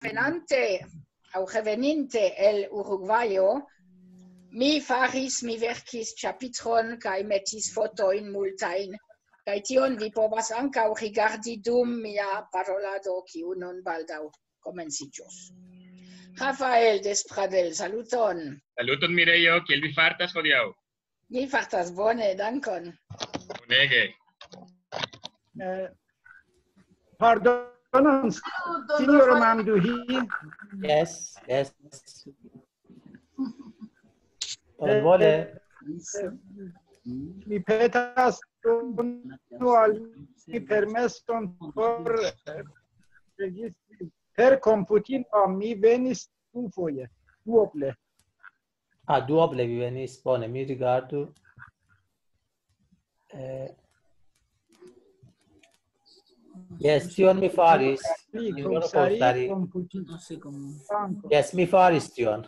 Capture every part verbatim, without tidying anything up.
Venante aŭ reveninte el Urugvajo, mi faris, mi verkis ĉapitron kaj metis fotojn multajn, kaj tion vi povas ankaŭ rigardi dum mia parolado, kiu nun baldaŭ komenciĝos. Rafael Despradel, saluton. Saluton, Mirejo, kiel vi fartas hodiaŭ? Mi fartas bone, dankon. Bonege. Eh, pardonon, sinjoro Mamduhi. Yes, yes. Bonvole. Eh, mi petas unu al mi permeson por, eh, registri per komputilo. Mi venis dufoje, duoble. Ah, duoble vi venis, bone, mi rigardu. Eh, yes, tion mi faris. Pli, sinjoro Kosari, Kosari. Komputilo. Yes, mi faris tion.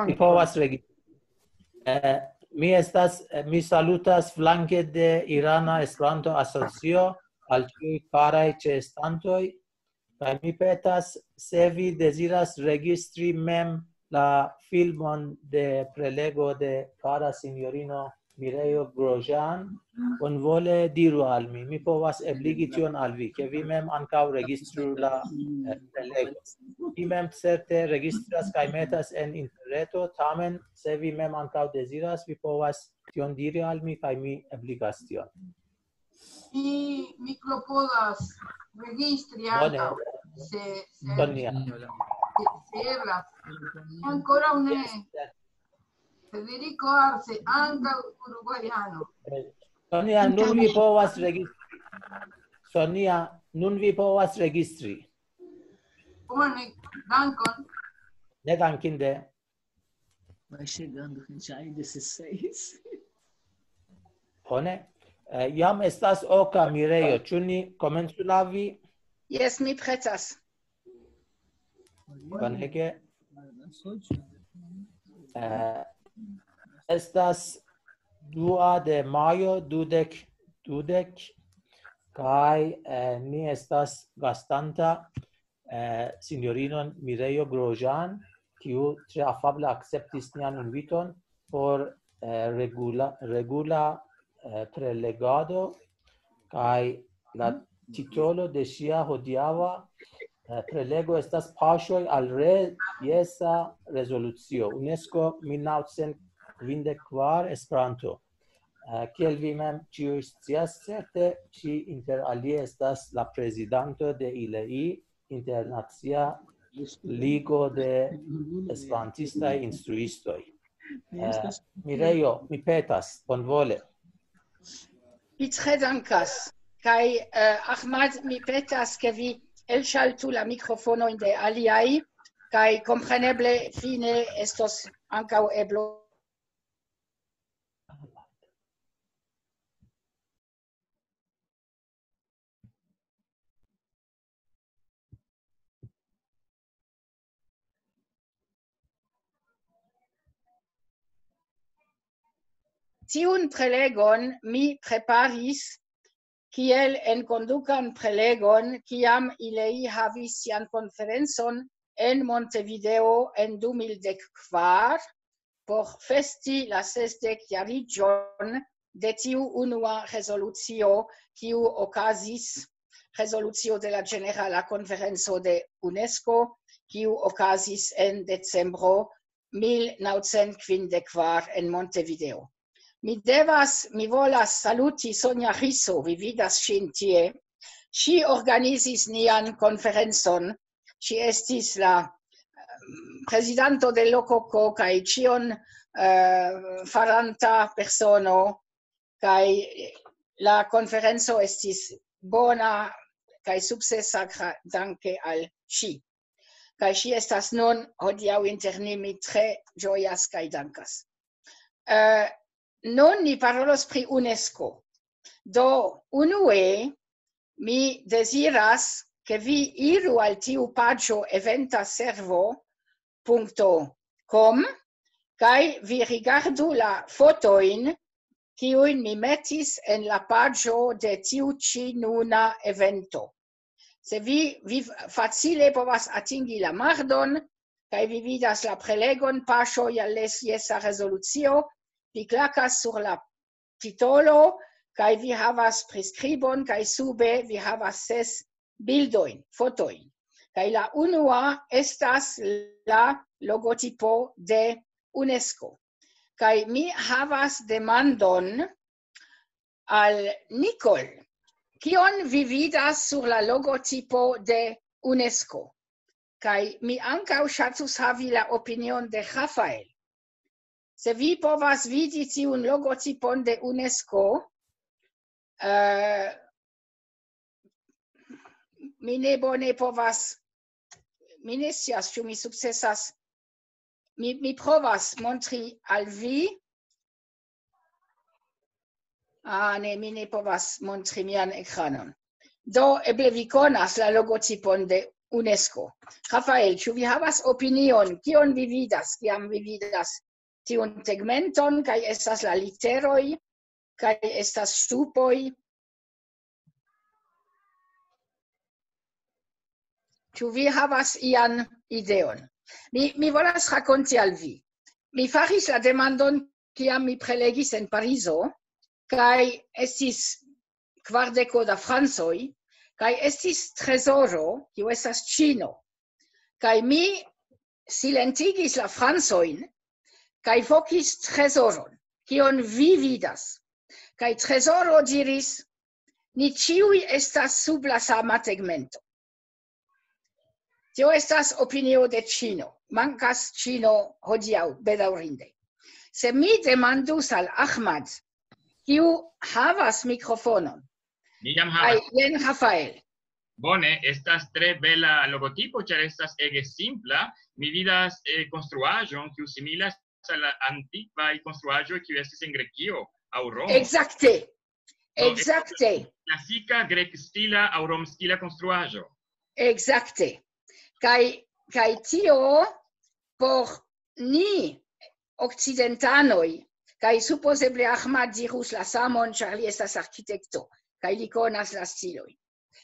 Mi povas regi-, eh, mi estas, eh, mi salutas flanke de Irana Esperanto Asocio al ĉiuj karaj ĉeestantoj, kaj mi petas, se vi deziras registri mem la filmon de prelego de kara sinjorino Mirejo Grojan, bonvole diru al mi. Mi povas ebligi tion al vi, ke vi mem ankaŭ registru la, eh, prelego. Vi mem certe registras kaj metas en interreto, tamen se vi mem ankaŭ deziras, vi povas tion diri al mi kaj mi ebligas tion. Mi, mi klopodas registri ankaŭ, se, se, Sonia, se, se eblas. Ankoraŭ ne. Federico Arce, ankaŭ uruguajano. Eh, Sonia, nun vi povas registri. Sonia, nun vi povas registri. Bone, dankon. Ne dankinde. Vai chegando, gente, já é dezesseis. Bone. Eh, jam estas oka, Mirejo. Ĉu ni komencu lavi? Jes, mi pretas. Bonege. Eh, estas dua de majo, dudek dudek, kaj, eh, ni estas gastanta, eh, sinjorinon Mirejo Grojan, kiu tre afable akceptis nian inviton por, eh, regula, regula, eh, prelegado, kaj la titolo de ŝia hodiaŭa, eh, prelego estas Paŝoj al re-, jesa rezolucio, UNESCO mil naŭcent kvindek kvar, Esperanto. Eh, kiel vi mem ĉiuj scias, certe, ŝi inter alie estas la prezidanto de I L E I, Internacia Ligo de Esperantistaj Instruistoj. Eh, Mirejo, mi petas, bonvole. Vi tre dankas. Kaj, eh, Ahmad, mi petas, ke vi elŝaltu la mikrofonojn de aliaj, kaj kompreneble fine estos ankaŭ eblo. Tiun prelegon mi preparis kiel enkondukan prelegon, kiam I L E I havis sian konferencon en Montevideo en du mil dek kvar, por festi la sesdek jariĝon de tiu unua rezolucio, kiu okazis, rezolucio de la Ĝenerala Konferenco de UNESCO, kiu okazis en decembro mil naŭcent kvindek kvar en Montevideo. Mi devas, mi volas saluti Sonja Riso, vi vidas ŝin tie. Ŝi organizis nian konferencon. Ŝi estis la, ehm, prezidanto de Lokoko kaj ĉion, eh, faranta persono, kaj la konferenco estis bona kaj sukcesa gra-, danke al ŝi. Kaj ŝi estas nun hodiaŭ inter ni, mi tre ĝojas kaj dankas. Eh, nun ni parolos pri UNESCO. Do, unue, mi deziras, ke vi iru al tiu paĝo eventaservo punkto com, kaj vi rigardu la fotojn, kiujn mi metis en la paĝo de tiu ĉi nuna evento. Se vi, vi facile povas atingi la mardon, kaj vi vidas la prelegon, paŝoj al les jesa rezolucio, vi klakas sur la titolo, kaj vi havas priskribon, kaj sube vi havas ses bildojn, fotojn. Kaj la unua estas la logotipo de UNESCO. Kaj mi havas demandon al Nicole. Kion vi vidas sur la logotipo de UNESCO? Kaj mi ankaŭ ŝatus havi la opinion de Rafael. Se vi povas vidi tiun logotipon de UNESCO, eh, mi ne bone povas, mi ne scias, ĉu mi sukcesas. Mi, mi provas montri al vi. Ah, ne, mi ne povas montri mian ekranon. Do, eble vi konas la logotipon de UNESCO. Rafael, ĉu vi havas opinion? Kion vi vidas, kiam vi vidas tiun tegmenton, kaj estas la literoj, kaj estas ŝtupoj? Ĉu vi havas ian ideon? Mi, mi volas rakonti al vi. Mi faris la demandon, kiam mi prelegis en Parizo, kaj estis kvardeko da francoj, kaj estis trezoro, kiu estas Ĉino. Kaj mi silentigis la francojn, kaj vokis trezoron. Kion vi vidas? Kaj trezoro diris: "Ni ĉiuj estas sub la sama tegmento." Tio estas opinio de Ĉino. Mankas Ĉino hodiaŭ, bedaŭrinde. Se mi demandus al Ahmad, kiu havas mikrofonon, Mi jam kaj havas. Jen Rafael. Bone, estas tre bela logotipo, ĉar estas ege simpla. Mi vidas eh, konstruaĵon, kiu similas al la antikvaj konstruaĵoj, kiu estis en Grekio aŭ Romo. Exacte. Exacte. Klasika grekstila aŭ romstila konstruaĵo. Exacte. Kaj, kaj tio por ni okcidentanoj, kaj supozeble Ahmad dirus la samon, ĉar li estas arkitekto, kaj li konas la stiloj.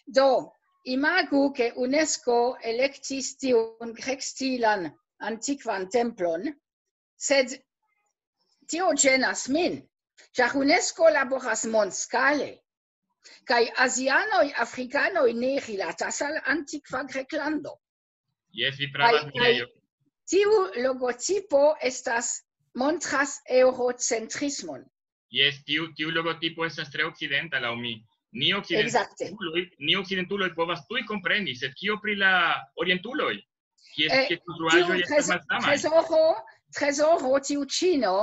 Do, imagu, ke UNESCO elektis tiun grekstilan antikvan templon, sed tio ĝenas min, ĉar UNESCO laboras mondskale, kaj azianoj, afrikanoj ne rilatas al antikva Greklando. Jes, vi pravas, Kaj, Mirejo. Tiu logotipo estas, montras eurocentrismon. Jes, tiu, tiu logotipo estas tre okcidenta laŭ mi. Ni Exacte. Okcidentuloj, ni okcidentuloj povas tuj kompreni, sed kio pri la orientuloj? Kies, Eh, kies konstruaĵoj tiu estas trez-, malsamaj? trezoro, trezoro, tiu Ĉino,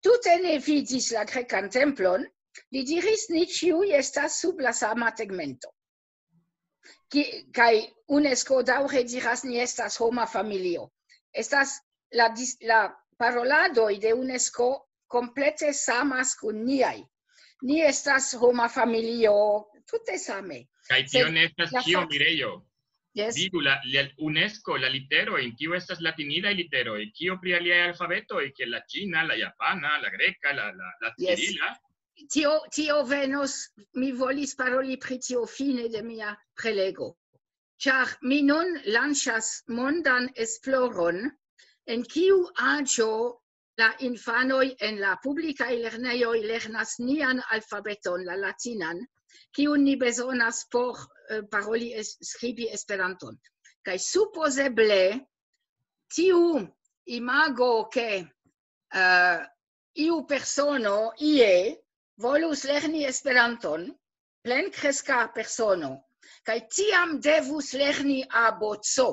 tute ne vidis la grekan templon, li diris: "Ni ĉiuj estas sub la sama tegmento." Ki-, kaj UNESCO daŭre diras: "Ni estas homa familio." Estas la dis-, la paroladoj de UNESCO komplete samas kun niaj. "Ni estas homa familio", tute same. Kaj tio Sed ne estas la ĉio, fak-, Mirejo. Yes. Vidu la, la UNESCO, la literoj, tio estas latinidaj literoj. Kio pri aliaj alfabetoj, kiel la ĉina, la japana, la greka, la, la, la Yes. cirila? Tio, tio venos, mi volis paroli pri tio fine de mia prelego. Ĉar mi nun lanĉas mondan esploron, en kiu aĝo la infanoj en la publikaj lernejoj lernas nian alfabeton, la latinan, kiun ni bezonas por eh, paroli, es-, skribi Esperanton. Kaj supozeble tiu imago, ke eh, iu persono ie volus lerni Esperanton, plenkreska persono, kaj tiam devus lerni A B C.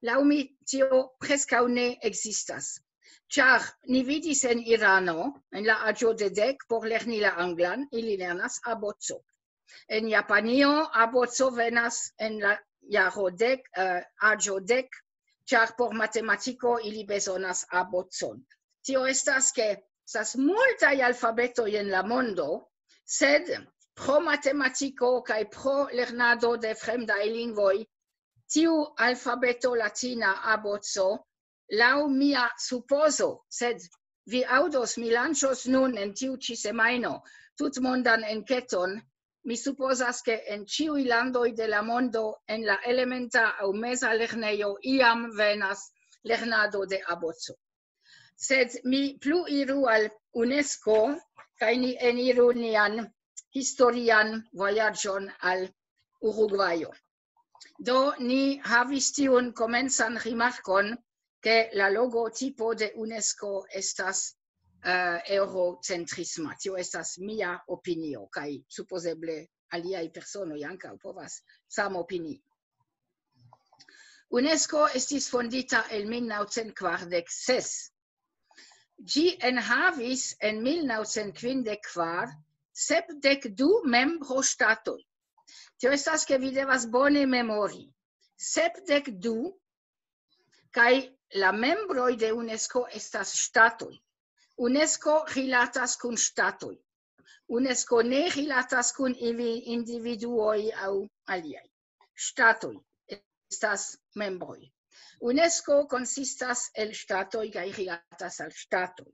Laŭ mi tio preskaŭ ne ekzistas. Ĉar ni vidis en Irano, en la aĝo de dek, por lerni la anglan, ili lernas A B C. En Japanio A B C venas en la jaro dek, eh, aĝo dek, ĉar por matematiko ili bezonas A B C. Tio estas, ke estas multaj alfabetoj en la mondo, sed pro matematiko kaj pro lernado de fremdaj lingvoj, tiu alfabeto latina A B C, laŭ mia supozo, sed vi aŭdos, mi lanĉos nun en tiu ĉi semajno tutmondan enketon, Mi supozas, ke en ĉiuj landoj de la mondo en la elementa aŭ meza lernejo iam venas lernado de aboco. Sed mi plu iru al UNESCO, kaj ni eniru nian historian vojaĝon al Urugvajo. Do ni havis tiun komencan rimarkon, ke la logotipo de UNESCO estas uh, eurocentrisma. Tio estas mia opinio, kaj supozeble aliaj personoj ankaŭ povas samopinii. UNESCO estis fondita en mil naŭcent kvardek ses. Ĝi enhavis en mil naŭcent kvindek kvar sepdek du membroŝtatoj. Tio estas, ke vi devas bone memori. Sepdek du, kaj la membroj de UNESCO estas ŝtatoj. UNESCO rilatas kun ŝtatoj. UNESCO ne rilatas kun individuoj aŭ aliaj. Ŝtatoj estas membroj. UNESCO konsistas el ŝtatoj kaj rilatas al ŝtatoj.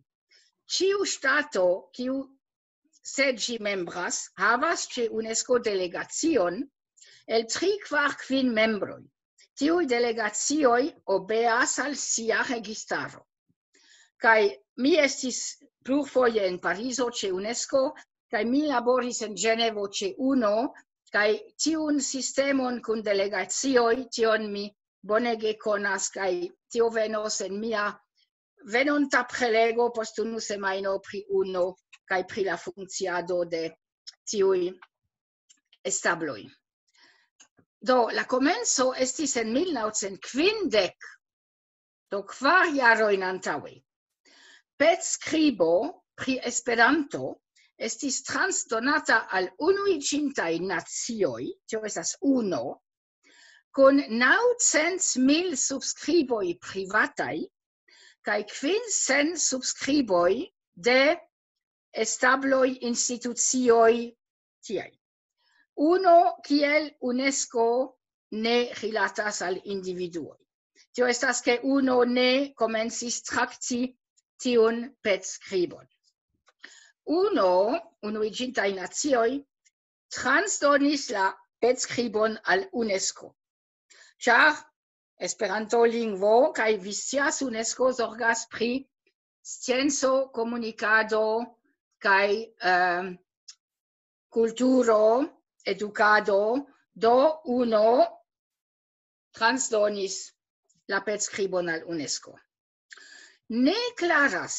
Ĉiu ŝtato, kiu se ĝi membras, havas ĉe UNESCO delegacion el tri, kvar, kvin membroj. Tiuj delegacioj obeas al sia registaro. Kaj mi estis plurfoje en Parizo ĉe UNESCO, kaj mi laboris en Ĝenevo ĉe UNO, kaj tiun sistemon kun delegacioj, tion mi bonege konas, kaj tio venos en mia venonta prelego post unu semajno pri UNO kaj pri la funkciado de tiuj establoj. Do, la komenco estis en mil naŭcent kvindek, do kvar jarojn antaŭe. Petskribo pri Esperanto estis transdonata al Unuiĝintaj Nacioj, tio estas UNO, kun naŭcent mil subskriboj privataj kaj kvincent subskriboj de establoj, institucioj tiaj. UNO kiel UNESCO ne rilatas al individuoj. Tio estas, ke UNO ne komencis trakti tiun petskribon. UNO, Unuiĝintaj Nacioj, transdonis la petskribon al UNESCO. Ĉar Esperanto lingvo kaj vi scias, UNESCO zorgas pri scienco, komunikado kaj eh, kulturo, edukado, do UNO transdonis la petskribon al UNESCO. Ne klaras,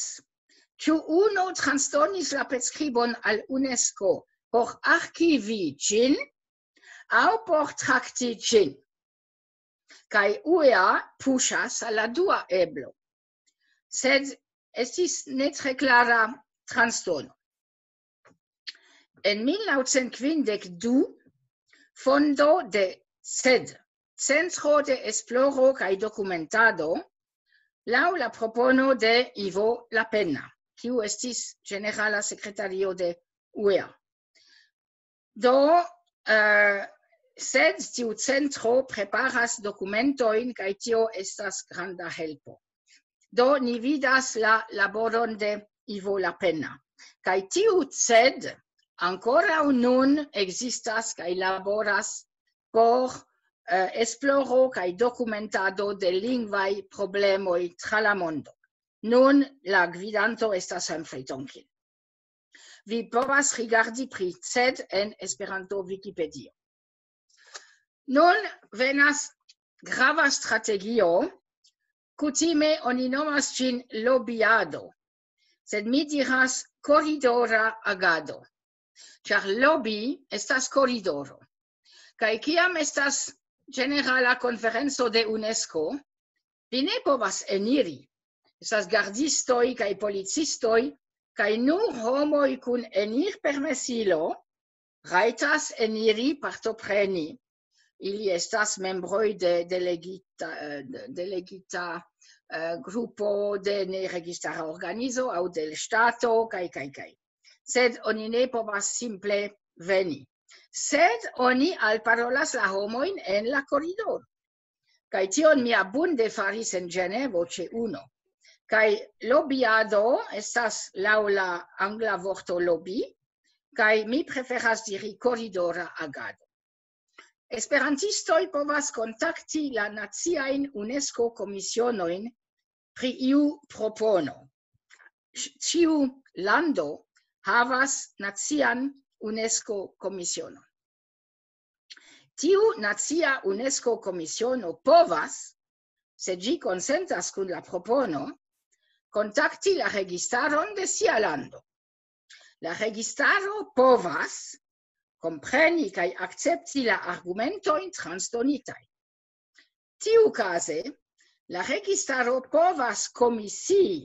ĉu UNO transdonis la petskribon al UNESCO por arkivi ĝin aŭ por trakti ĝin. Kaj UEA puŝas al la dua eblo. Sed estis ne tre klara transdono. En mil naŭcent kvindek du fondo de CED, Centro de Esploro kaj Dokumentado, laŭ la propono de Ivo Lapenna, kiu estis ĝenerala sekretario de UEA. Do, eh, sed tiu centro preparas dokumentojn, kaj tio estas granda helpo. Do, ni vidas la laboron de Ivo Lapenna. Kaj tiu CED ankoraŭ nun ekzistas kaj laboras por eh, esploro kaj dokumentado de lingvaj problemoj tra la mondo. Nun la gvidanto estas Humphrey Tonkin. Vi povas rigardi pri CED en Esperanto Wikipedio. Nun venas grava strategio, kutime oni nomas ĝin lobiado, sed mi diras koridora agado, ĉar lobby estas koridoro. Kaj kiam estas ĝenerala konferenco de UNESCO, vi ne povas eniri. Estas gardistoj kaj policistoj, kaj nur homoj kun enirpermesilo rajtas eniri partopreni. Ili estas membroj de delegita, eh, de delegita eh, grupo de neregistara organizo aŭ de l ŝtato, kaj, kaj, kaj. Sed oni ne povas simple veni. Sed oni alparolas la homojn en la koridoro. Kaj tion mi abunde faris en Ĝenevo ĉe UNO. Kaj lobiado estas laŭ la angla vorto lobby, kaj mi preferas diri koridora agado. Esperantistoj povas kontakti la naciajn UNESCO-komisionojn pri iu propono. Ĉiu lando havas nacian UNESCO-komisionon. Tiu nacia UNESCO-komisiono povas, se ĝi konsentas kun la propono, kontakti la registaron de sia lando. La registaro povas kompreni kaj akcepti la argumentojn transdonitaj. Tiukaze, la registaro povas komisii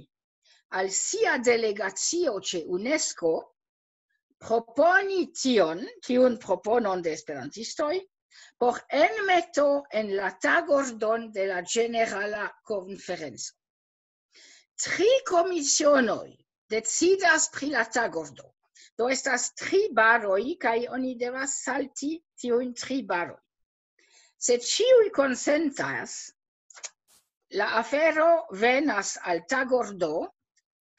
al sia delegacio ĉe UNESCO proponi tion, tiun proponon de esperantistoj, por enmeto en la tagordon de la ĝenerala konferenco. Tri komisionoj decidas pri la tagordo. Do estas tri baroj, kaj oni devas salti tiujn tri baroj. Se ĉiuj konsentas, la afero venas al tagordo,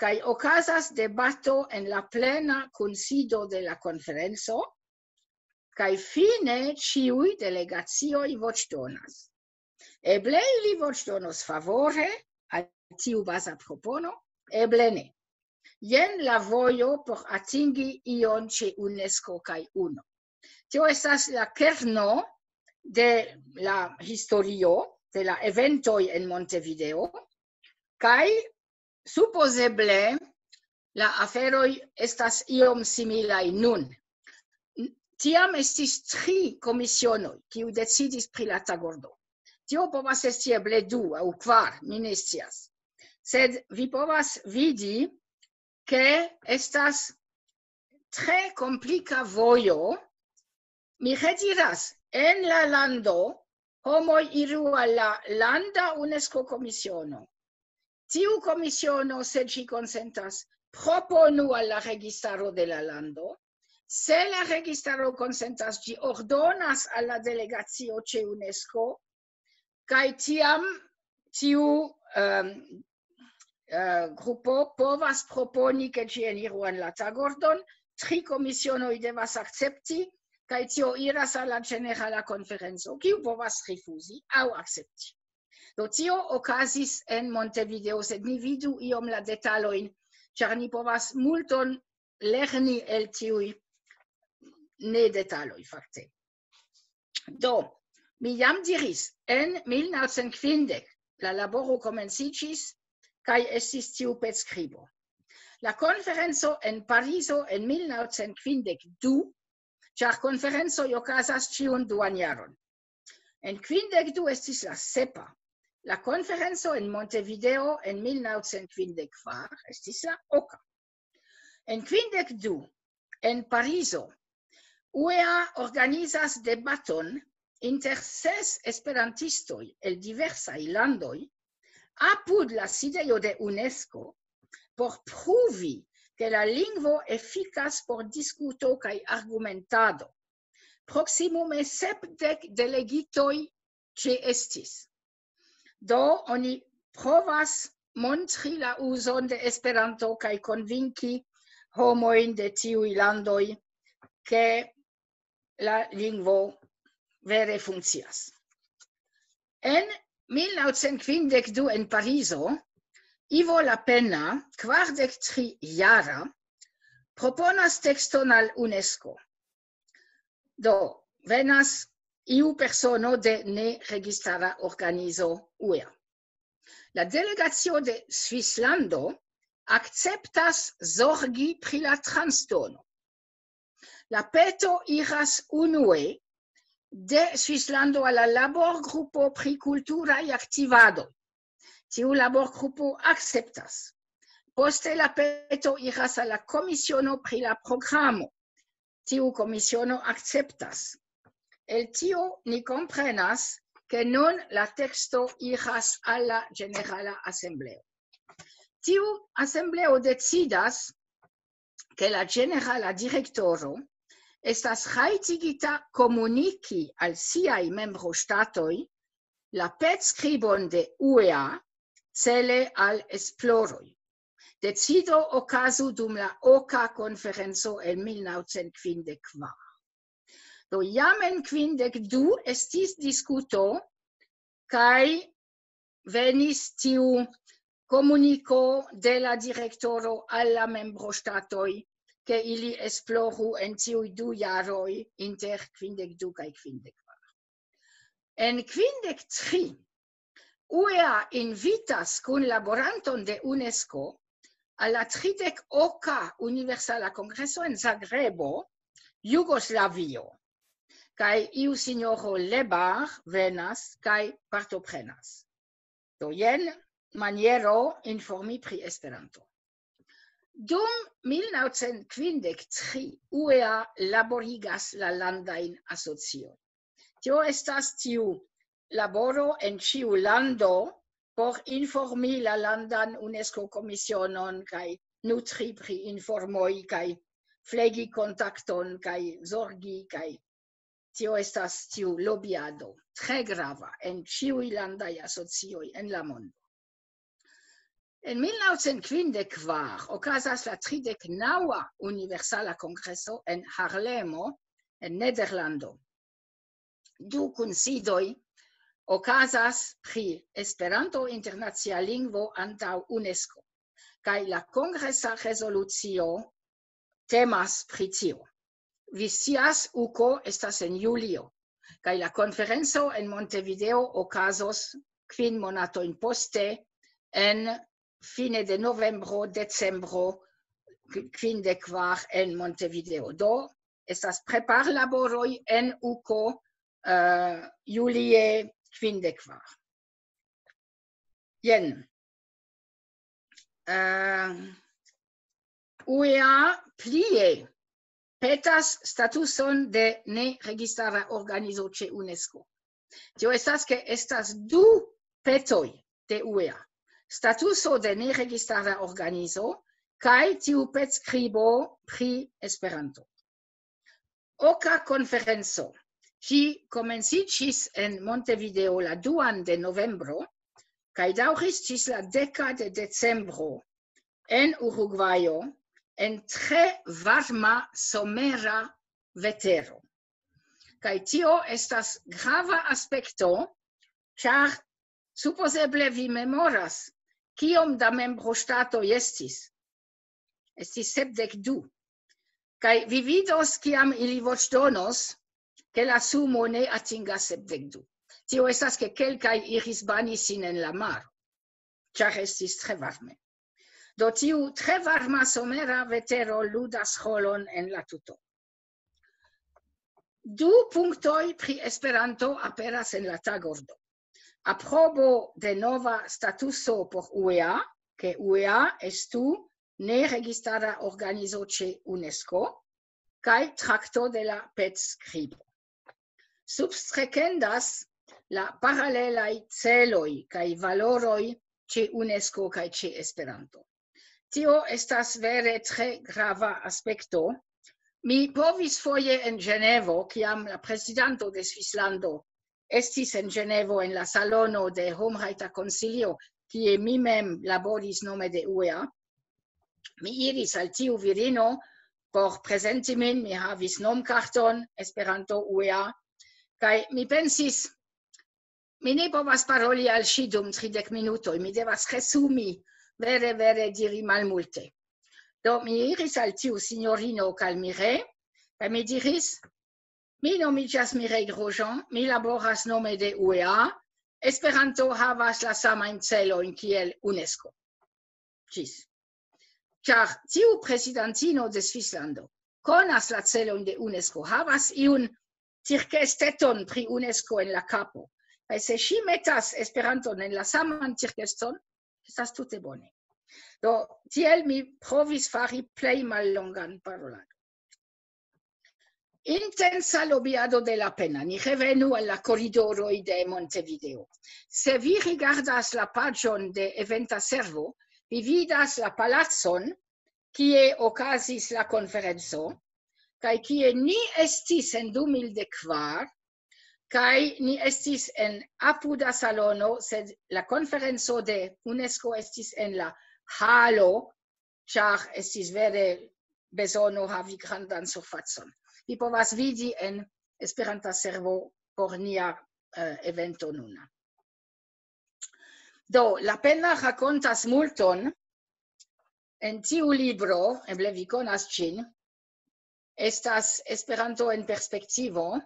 kaj okazas debato en la plena kunsido de la konferenco, kaj fine ĉiuj delegacioj voĉdonas. Eble ili voĉdonos favore al tiu baza propono, eble ne. Jen la vojo por atingi ion ĉe UNESCO kaj UNO. Tio estas la kerno de la historio de la eventoj en Montevideo, kaj supozeble la aferoj estas iom similaj nun. Tiam estis tri komisionoj, kiu decidis pri la tagordo. Tio povas esti eble du aŭ kvar, mi ne scias. Sed vi povas vidi, ke estas tre komplika vojo. Mi rediras, en la lando homoj iru al la landa UNESCO-komisiono. Tiu komisiono, se ĝi konsentas, proponu al la registaro de la lando. Se la registaro konsentas, ĝi ordonas al la delegacio ĉe UNESCO, kaj tiam tiu, ehm, eh, grupo povas proponi, ke ĝi eniru en la tagordon, tri komisionoj devas akcepti, kaj tio iras al la ĝenerala konferenco, kiu povas rifuzi aŭ akcepti. Do tio okazis en Montevideo, sed ni vidu iom la detalojn, ĉar ni povas multon lerni el tiuj ne detaloj, fakte. Do, mi jam diris, en mil naŭcent kvindek la laboro komenciĝis kaj estis tiu petskribo. La konferenco en Parizo en mil naŭcent kvindek du, ĉar konferencoj okazas ĉiun duan jaron. En kvindek du estis la sepa. La konferenco en Montevideo en mil naŭcent kvindek kvar estis la oka. En kvindek du, en Parizo, UEA organizas debaton inter ses esperantistoj el diversaj landoj apud la sidejo de UNESCO por pruvi, ke la lingvo efikas por diskuto kaj argumentado. Proksimume sepdek delegitoj ĉeestis. Do oni provas montri la uzon de Esperanto kaj konvinki homojn de tiuj landoj, ke la lingvo vere funkcias. En mil naŭcent kvindek du en Parizo, Ivo Lapenna, kvardek tri jara, proponas tekston al UNESCO. Do, venas iu persono de neregistara organizo UEA. La delegacio de Svislando akceptas zorgi pri la transdono. La peto iras unue de Svislando al la laborgrupo pri kulturaj aktivadoj. Tiu laborgrupo akceptas. Poste la peto iras al la komisiono pri la programo. Tiu komisiono akceptas. El tio ni komprenas, ke nun la teksto iras al la ĝenerala asembleo. Tiu asembleo decidas, ke la ĝenerala direktoro estas rajtigita komuniki al siaj membroŝtatoj la petskribon de UEA cele al esploroj. decido okazu dum la oka konferenco en mil naŭcent kvindek kvar. Do jam en kvindek du estis diskuto, kaj venis tiu komuniko de la direktoro al la membroŝtatoj, ke ili esploru en tiuj du jaroj inter kvindek du kaj kvindek kvar. En kvindek tri, U E A invitas kunlaboranton de UNESCO al la tridek oka Universala Kongreso en Zagrebo, Jugoslavio. Kaj iu sinjoro Lebar venas kaj partoprenas. Do jen maniero informi pri Esperanto. Dum mil naŭcent kvindek tri U E A laborigas la landajn asociojn. Tio estas tiu laboro en ĉiu lando por informi la landan UNESCO komisionon kaj nutri pri informoj kaj flegi kontakton kaj zorgi kaj tio estas tiu lobiado tre grava en ĉiuj landaj asocioj en la mondo. En mil naŭcent kvindek kvar okazas la tridek naŭa Universala Kongreso en Harlemo, en Nederlando. Du kunsidoj okazas pri Esperanto internacia lingvo antaŭ UNESCO, kaj la kongresa rezolucio temas pri tio. Vi scias, uko estas en julio, kaj la konferenco en Montevideo okazos kvin monatojn poste, en fine de novembro, decembro kvindek kvar en Montevideo. Do, estas preparlaboroj en uko, eh, julie kvindek kvar. Jen. Eh, U E A plie petas statuson de neregistara organizo ĉe UNESCO. Tio estas, ke estas du petoj de U E A. Statuso de neregistara organizo kaj tiu petskribo pri Esperanto. Oka konferenco. Ĝi komenciĝis en Montevideo la duan de novembro kaj daŭris ĝis la deka de decembro en Urugvajo en tre varma somera vetero. Kaj tio estas grava aspekto, ĉar supozeble vi memoras, kiom da membroŝtatoj estis. Estis sepdek du. Kaj vi vidos, kiam ili voĉdonos, ke la sumo ne atingas sepdek du. Tio estas, ke kelkaj iris bani sin en la maro, ĉar estis tre varme. Do tiu tre varma somera vetero ludas rolon en la tuto. Du punktoj pri Esperanto aperas en la tagordo. Aprobo de nova statuso por U E A, ke U E A estu neregistara organizo ĉe UNESCO, kaj trakto de la petskribo. Substrekendas la paralelaj celoj kaj valoroj ĉe UNESCO kaj ĉe Esperanto. Tio estas vere tre grava aspekto. Mi povis foje en Ĝenevo, kiam la prezidanto de Svislando estis en Ĝenevo en la salono de Homrajta Konsilio, kie mi mem laboris nome de U E A. Mi iris al tiu virino por prezenti min, mi havis nomkarton Esperanto U E A, kaj mi pensis, mi ne povas paroli al ŝi dum tridek minutoj, mi devas resumi, vere, vere diri malmulte. Do mi iris al tiu sinjorino Calmire, kaj mi diris, mi nomiĝas Mireille Grosjean, mi laboras nome de U E A, Esperanto havas la samajn celojn kiel UNESCO. Ĝis. Ĉar tiu prezidantino de Svislando konas la celojn de UNESCO, havas iun tirkesteton pri UNESCO en la kapo. Kaj se ŝi metas Esperanton en la saman tirkeston, estas tute bone. Do, tiel mi provis fari plej mallongan paroladon. Intensa lobiado de la pena. Ni revenu al la koridoroj de Montevideo. Se vi rigardas la paĝon de Eventa Servo, vi vidas la palacon, kie okazis la konferenco, kaj kie ni estis en du mil dek kvar, kaj ni estis en apuda salono, sed la konferenco de UNESCO estis en la halo ĉar estis vere bezono havi grandan surfacon. Vi povas vidi en Esperanta servo por nia eh, evento nuna. Do, la pena rakontas multon en tiu libro, eble vi konas ĝin, estas Esperanto en perspektivo,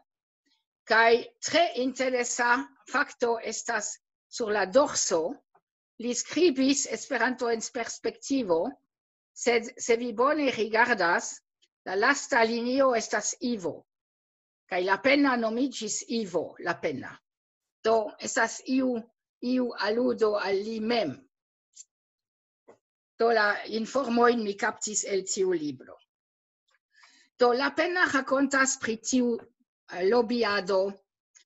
kaj tre interesa fakto estas sur la dorso, li skribis Esperanto en perspektivo, sed se vi bone rigardas, la lasta linio estas Ivo, kaj la pena nomiĝis Ivo, la pena. Do, estas iu, iu aludo al li mem. Do, la informojn mi kaptis el tiu libro. Do, la pena rakontas pri tiu eh, lobiado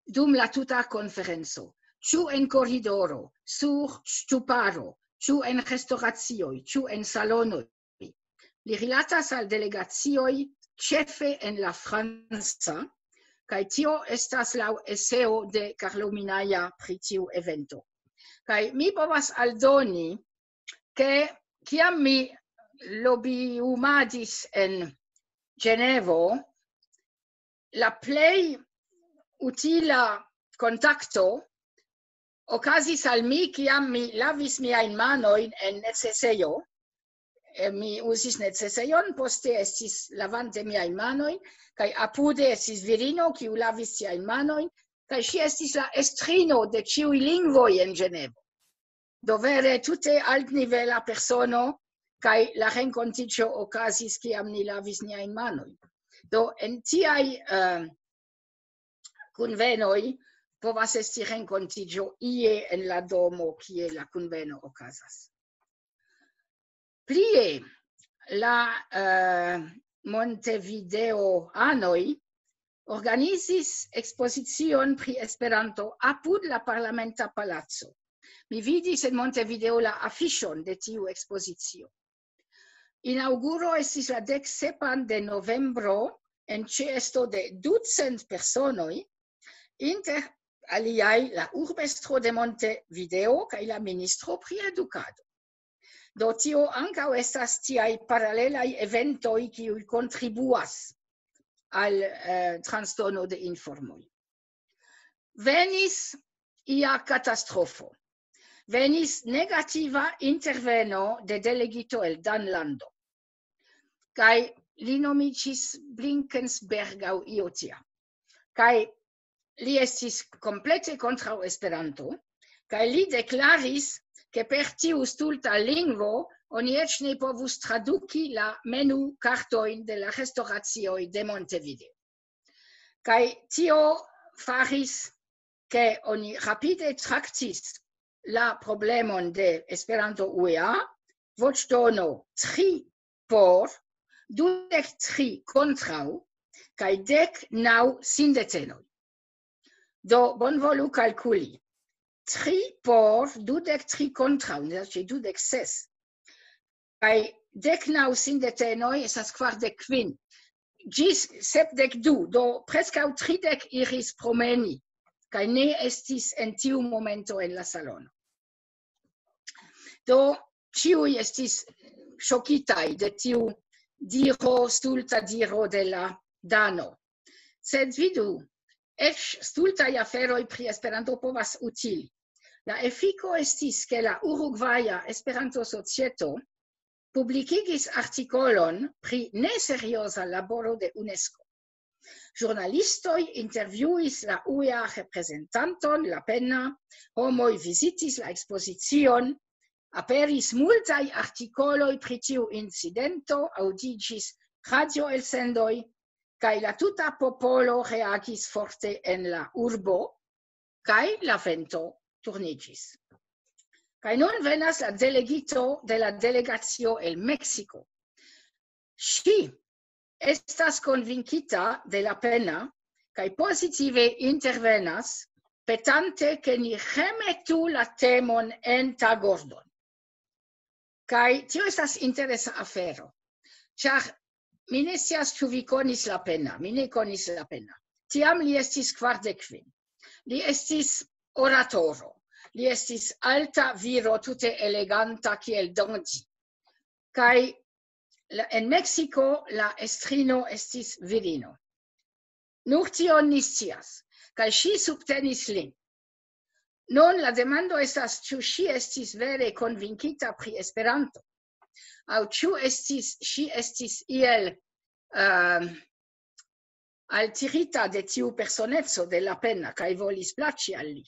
dum la tuta konferenco. Ĉu en koridoro, sur ŝtuparo, ĉu en restoracioj, ĉu en salonoj. Li rilatas al delegacioj, ĉefe en la franca, kaj tio estas laŭ eseo de Carlo Minaja pri tiu evento. Kaj mi povas aldoni, ke kiam mi lobiumadis en Ĝenevo, la plej utila kontakto okazis al mi, kiam mi lavis miajn manojn en necesejo. Eh, mi uzis necesejon, poste estis lavante miajn manojn, kaj apude estis virino, kiu lavis siajn manojn, kaj ŝi estis la estrino de ĉiuj lingvoj en Ĝenevo. Do, vere tute altnivela persono, kaj la renkontiĝo okazis, kiam ni lavis niajn manojn. Do, en tiaj eh, kunvenoj povas esti renkontiĝo ie en la domo, kie la kunveno okazas. Plie, la eh, Montevideo-anoj organizis ekspozicion pri Esperanto apud la parlamenta palaco. Mi vidis en Montevideo la afiŝon de tiu ekspozicio. Inaŭguro estis la dek sepan de novembro en ĉeesto de ducent personoj, inter aliaj la urbestro de Montevideo kaj la ministro pri edukado. Do, tio ankaŭ estas tiaj paralelaj eventoj, kiuj kontribuas al eh, transdono de informoj. Venis ia katastrofo. Venis negativa interveno de delegito el Danlando. Kaj li nomiĝis Blinkensberg aŭ io tia. Kaj li estis komplete kontraŭ Esperanto, kaj li deklaris, ke per tiu stulta lingvo oni eĉ ne povus traduki la menu kartojn de la restoracioj de Montevideo. Kaj tio faris, ke oni rapide traktis la problemon de Esperanto U E A, voĉdono tri por, dudek tri kontraŭ, kaj dek naŭ sindetenoj. Do, bonvolu kalkuli. Tri por, dudek tri kontraŭ, ne, dudek ses. Kaj dek naŭ sindetenoj estas kvardek kvin. Ĝis sepdek du, do preskaŭ tridek iris promeni, kaj ne estis en tiu momento en la salono. Do, ĉiuj estis ŝokitaj de tiu diro, stulta diro de la Dano. Sed vidu, eĉ stultaj aferoj pri Esperanto povas utili. La efiko estis, ke la Urugvaja Esperanto-Societo publikigis artikolon pri neserioza laboro de UNESCO. Ĵurnalistoj intervjuis la U E A reprezentanton, la pena, homoj vizitis la ekspozicion, aperis multaj artikoloj pri tiu incidento, aŭdiĝis radioelsendoj, kaj la tuta popolo reagis forte en la urbo, kaj la vento turniĝis. Kaj nun venas la delegito de la delegacio el Meksiko. Ŝi estas konvinkita de la pena kaj pozitive intervenas, petante, ke ni remetu la temon en tagordon. Kaj tio estas interesa afero, ĉar mi ne scias, ĉu vi konis la pena, mi ne konis la pena. Tiam li estis kvardek kvin. Li estis oratoro. Li estis alta viro, tute eleganta kiel Dandi. Kaj la, en Meksiko la estrino estis virino. Nur tion ni scias. Kaj ŝi subtenis lin. Nun la demando estas, ĉu ŝi estis vere konvinkita pri Esperanto, aŭ ĉu estis, ŝi estis iel, ehm, altirita de tiu personeco de Lapena kaj volis plaĉi al li.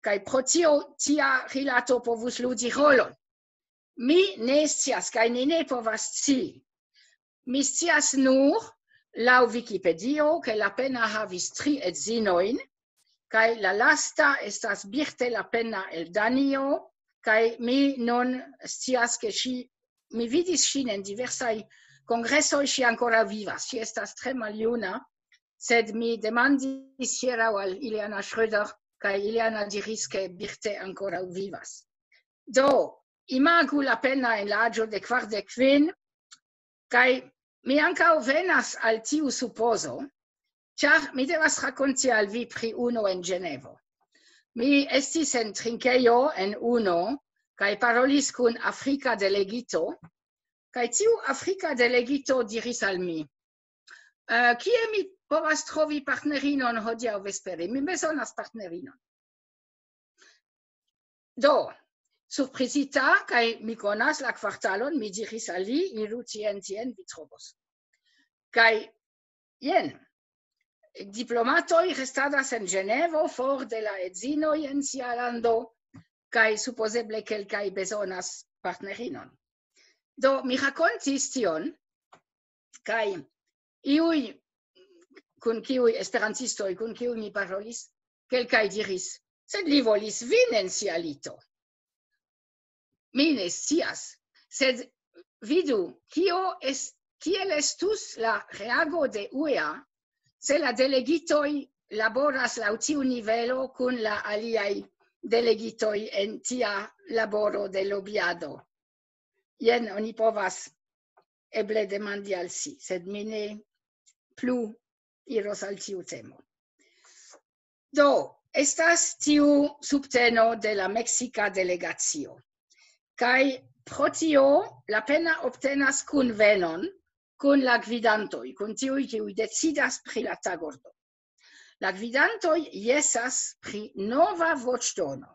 Kaj pro tio tia rilato povus ludi rolon. Mi ne scias, kaj ni ne povas scii. Mi scias nur, laŭ Vikipedio, ke Lapena havis tri edzinojn, kaj la lasta estas Birte Lapena el Danio, kaj mi nun scias, ke ŝi, mi vidis ŝin en diversaj kongresoj, ŝi ankoraŭ vivas. Ŝi estas tre maljuna, sed mi demandis hieraŭ al Ileana Schröder, kaj Ileana diris, ke Birte ankoraŭ vivas. Do, imagu Lapena en la aĝo de kvardek kvin, kaj mi ankaŭ venas al tiu supozo, ĉar mi devas rakonti al vi pri unu en Ĝenevo. Mi estis en trinkejo en unu, kaj parolis kun afrika delegito, kaj tiu afrika delegito diris al mi, eh, kie mi povas trovi partnerinon hodiaŭ vespere? Mi bezonas partnerinon. Do, surprizita, kaj mi konas la kvartalon, mi diris al li, iru tien, tien, vi trovos. Kaj jen, diplomatoj restadas en Ĝenevo, for de la edzinoj en sia lando, kaj supozeble kelkaj bezonas partnerinon. Do, mi rakontis tion, kaj iuj, kun kiuj esperantistoj, kun kiuj mi parolis, kelkaj diris, sed li volis vin en sia lito. Mi ne scias, sed vidu, kio es-, kiel estus la reago de U E A, se la delegitoj laboras laŭ tiu nivelo kun la aliaj delegitoj en tia laboro de lobiado. Jen oni povas eble demandi al si, sed mi ne plu iros al tiu temo. Do, estas tiu subteno de la meksika delegacio. Kaj pro tio Lapena obtenas kunvenon kun la gvidantoj, kun tiuj, kiuj decidas pri la tagordo. La gvidantoj jesas pri nova voĉdono.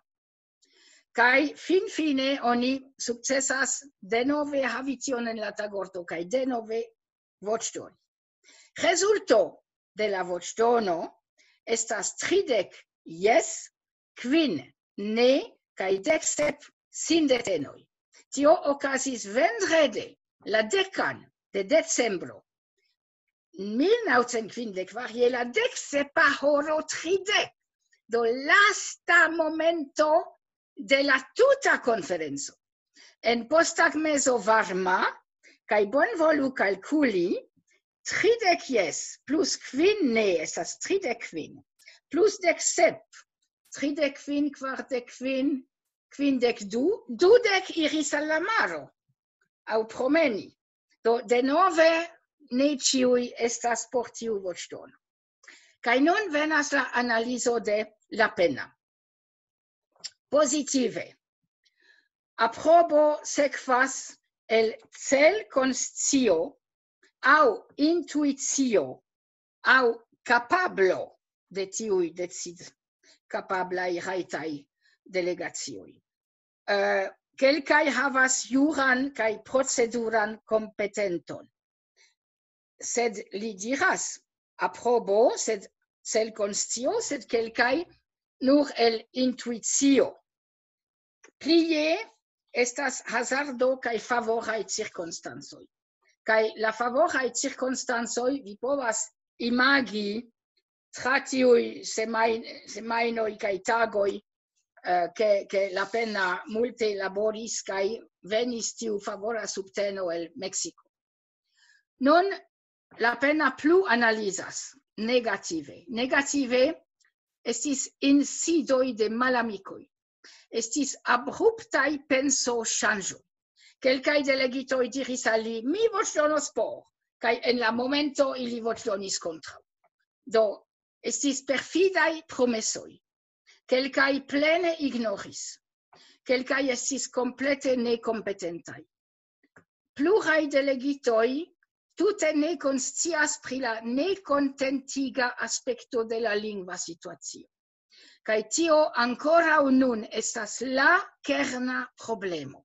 Kaj finfine oni sukcesas denove havi tion en la tagordo, kaj denove voĉdoni. Rezulto de la voĉdono estas tridek jes, kvin ne, kaj dek sep sindetenoj. Tio okazis vendrede, la dekan de decembro, mil naŭcent kvindek kvar, je la dek sepa horo tridek. Do, lasta momento de la tuta konferenco. En posttagmezo varma, kaj bonvolu kalkuli, tridek jes plus kvin ne estas tridek kvin, plus dek sep, tridek kvin, kvardek kvin, kvindek du, dudek iris al la maro, aŭ promeni. Do, denove, ne ĉiuj estas por tiu voĉdono. Kaj nun venas la analizo de Lapena. Pozitive. Aprobo sekvas el celkonscio aŭ intuicio aŭ kapablo de tiuj decid-, kapablaj rajtaj delegacioj. Eh, kelkaj havas juran kaj proceduran kompetenton. Sed li diras, aprobo, sed celkonscio, sed kelkaj nur el intuicio. Plie estas hazardo kaj favoraj cirkonstancoj. Kaj la favoraj cirkonstancoj vi povas imagi tra tiuj semajn-, semajnoj kaj tagoj, eh, ke, ke Lapena multe laboris kaj venis tiu favora subteno el Meksiko. Nun Lapena plu analizas negative. Negative estis insidoj de malamikoj. Estis abruptaj pensoŝanĝoj. Kelkaj delegitoj diris al li, "Mi voĉdonos por," kaj en la momento ili voĉdonis kontraŭ. Do, estis perfidaj promesoj. Kelkaj plene ignoris. Kelkaj estis komplete nekompetentaj. pluraj delegitoj tute ne konscias pri la nekontentiga aspekto de la lingva situacio. Kaj tio ankoraŭ nun estas la kerna problemo.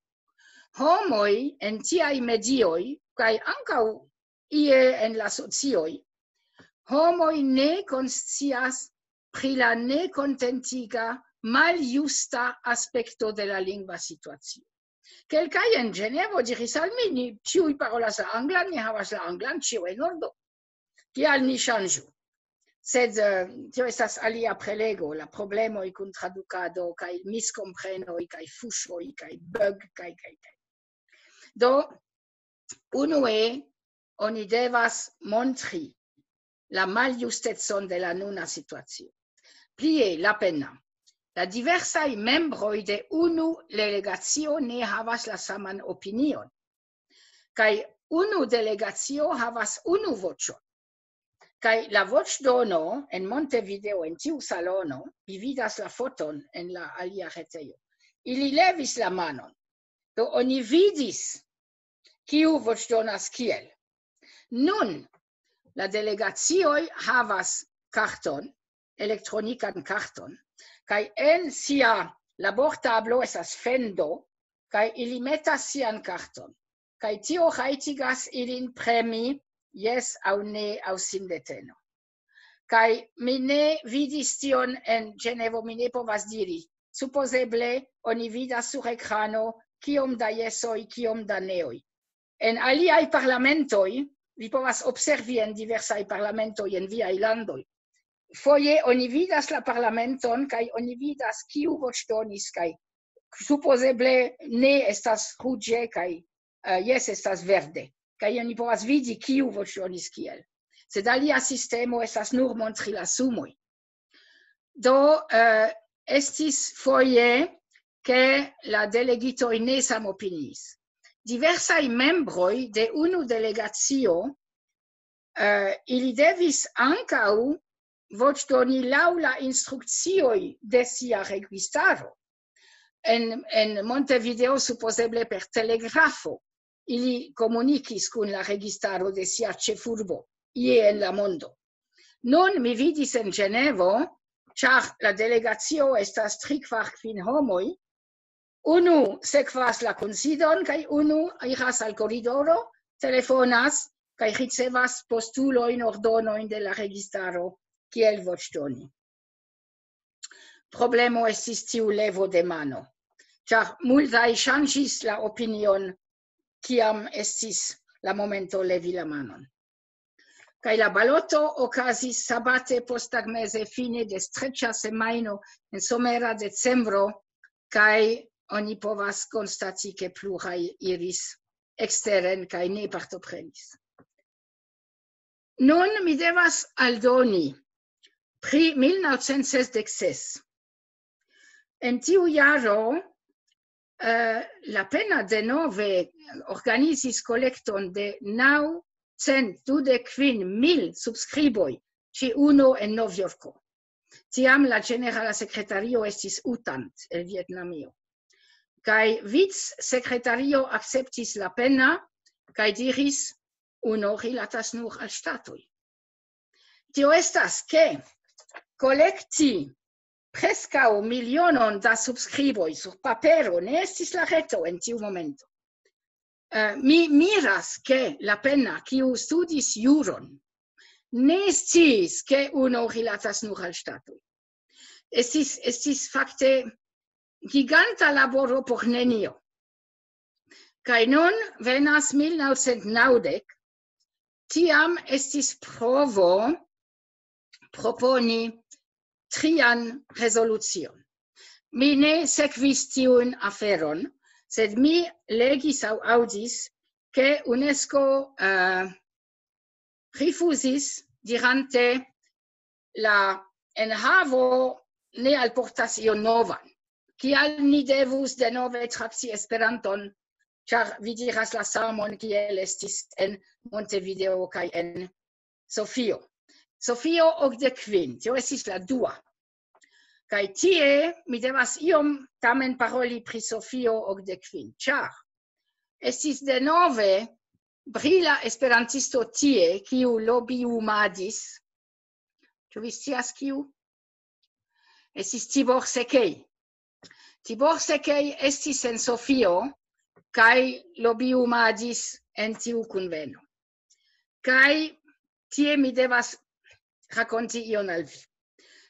Homoj en tiaj medioj, kaj ankaŭ ie en la socioj, homoj ne konscias pri la nekontentiga, maljusta aspekto de la lingva situacio. Kelkaj en Ĝenevo diris al mi: "Ni ĉiuj parolas la anglan, ni havas la anglan, ĉio en ordo. Kial ni ŝanĝu?" Sed eh, tio estas alia prelego, la problemoj kun tradukado kaj miskomprenoj kaj fuŝoj kaj bug kaj kaj kaj. Do, unue oni devas montri la maljustecon de la nuna situacio. Plie, la pena. La diversaj membroj de unu delegacio ne havas la saman opinion. Kaj unu delegacio havas unu voĉon. Kaj la voĉdono en Montevideo, en tiu salono, vi vidas la foton en la alia retejo, ili levis la manon. Do oni vidis, kiu voĉdonas kiel. Nun, la delegacioj havas karton, elektronikan karton, kaj en sia labortablo estas fendo, kaj ili metas sian karton. Kaj tio rajtigas ilin premi jes aŭ ne aŭ sindeteno. Kaj mi ne vidis tion en Ĝenevo, mi ne povas diri. Supozeble oni vidas sur ekrano kiom da jesoj, kiom da neoj. En aliaj parlamentoj, vi povas observi en diversaj parlamentoj en viaj landoj. Foje oni vidas la parlamenton kaj oni vidas kiu voĉdonis kaj supozeble ne estas ruĝe kaj eh, jes estas verde. Kaj oni povas vidi kiu voĉdonis kiel. Sed alia sistemo estas nur montri la sumoj. Do eh, estis foje ke la delegitoj ne samopiniis. Diversaj membroj de unu delegacio eh, ili devis ankaŭ voĉdoni laŭ la instrukcioj de sia registaro. En, en Montevideo supozeble per telegrafo ili komunikis kun la registaro de sia ĉefurbo, ie en la mondo. Nun mi vidis en Ĝenevo, ĉar la delegacio estas tri, kvar, kvin homoj, unu sekvas la kunsidon kaj unu iras al koridoro, telefonas kaj ricevas postulojn, ordonojn de la registaro kiel voĉdoni. Problemo estis tiu levo de mano, ĉar multaj ŝanĝis la opinion, kiam estis la momento levi la manon. Kaj la baloto okazis sabate posttagmeze, fine de streĉa semajno en somera decembro, kaj oni povas konstati, ke pluraj iris eksteren kaj ne partoprenis. Nun mi devas aldoni pri mil naŭcent sesdek ses. En tiu jaro eh, la pena denove organizis kolekton de naŭcent dudek kvin mil subskriboj, ĉiuno en Novjorko. Tiam la ĝenerala sekretario estis Utant el Vietnamio. Kaj vicsekretario akceptis la pena kaj diris: "Uno rilatas nur al ŝtatoj." Tio estas, ke kolekti preskaŭ milionon da subskriboj sur papero ne estis la reto en tiu momento. Eh, mi miras, ke la pena, kiu studis juron, ne sciis, ke uno rilatas nur al ŝtatoj. Estis, estis fakte giganta laboro por nenio. Kaj nun venas mil naŭcent naŭdek, tiam estis provo proponi trian rezolucion. Mi ne sekvis tiun aferon, sed mi legis aŭ aŭdis, ke UNESCO eh, rifuzis, dirante: "La enhavo ne alportas ion novan. Kial ni devus denove trakti Esperanton, ĉar vi diras la samon kiel estis en Montevideo kaj en Sofio?" Sofio okdek kvin, tio estis la dua. Kaj tie mi devas iom tamen paroli pri Sofio okdek kvin, ĉar estis denove brila esperantisto tie, kiu lobiumadis. Ĉu vi scias kiu? Estis Tibor Sekej. Tibor Sekej estis en Sofio kaj lobiumadis en tiu kunveno. Kaj tie mi devas rakonti ion al vi.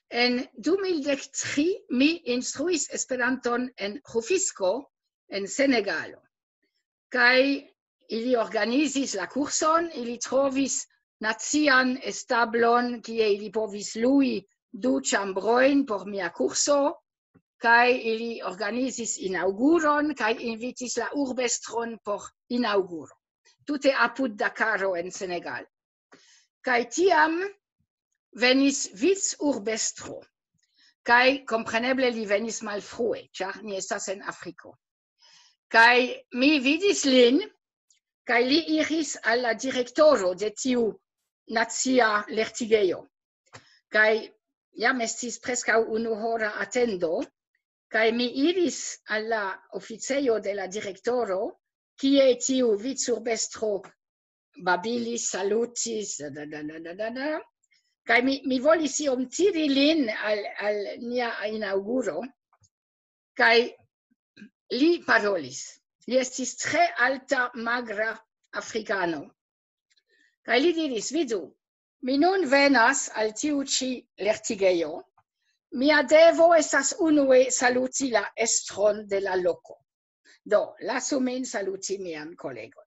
En du mil dek tri mi instruis Esperanton en Rufisko, en Senegalo. Kaj ili organizis la kurson, ili trovis nacian establon, kie ili povis lui du ĉambrojn por mia kurso, kaj ili organizis inaŭguron, kaj invitis la urbestron por inaŭguro. Tute apud Dakaro en Senegal. Kaj tiam venis vicurbestro, kaj kompreneble li venis malfrue, ĉar ni estas en Afriko. Kaj mi vidis lin, kaj li iris al la direktoro de tiu nacia lertigejo. Kaj jam estis preskaŭ unuhora atendo, kaj mi iris al la oficejo de la direktoro, kie tiu vicurbestro babilis, salutis, da, da, da, da, da, da. Kaj mi, mi volis iom tiri lin al, al nia inaŭguro, kaj li parolis. Li estis tre alta, magra afrikano. Kaj li diris: "Vidu, mi nun venas al tiu ĉi lertigejo. Mia devo estas unue saluti la estron de la loko. Do, lasu min saluti mian kolegon.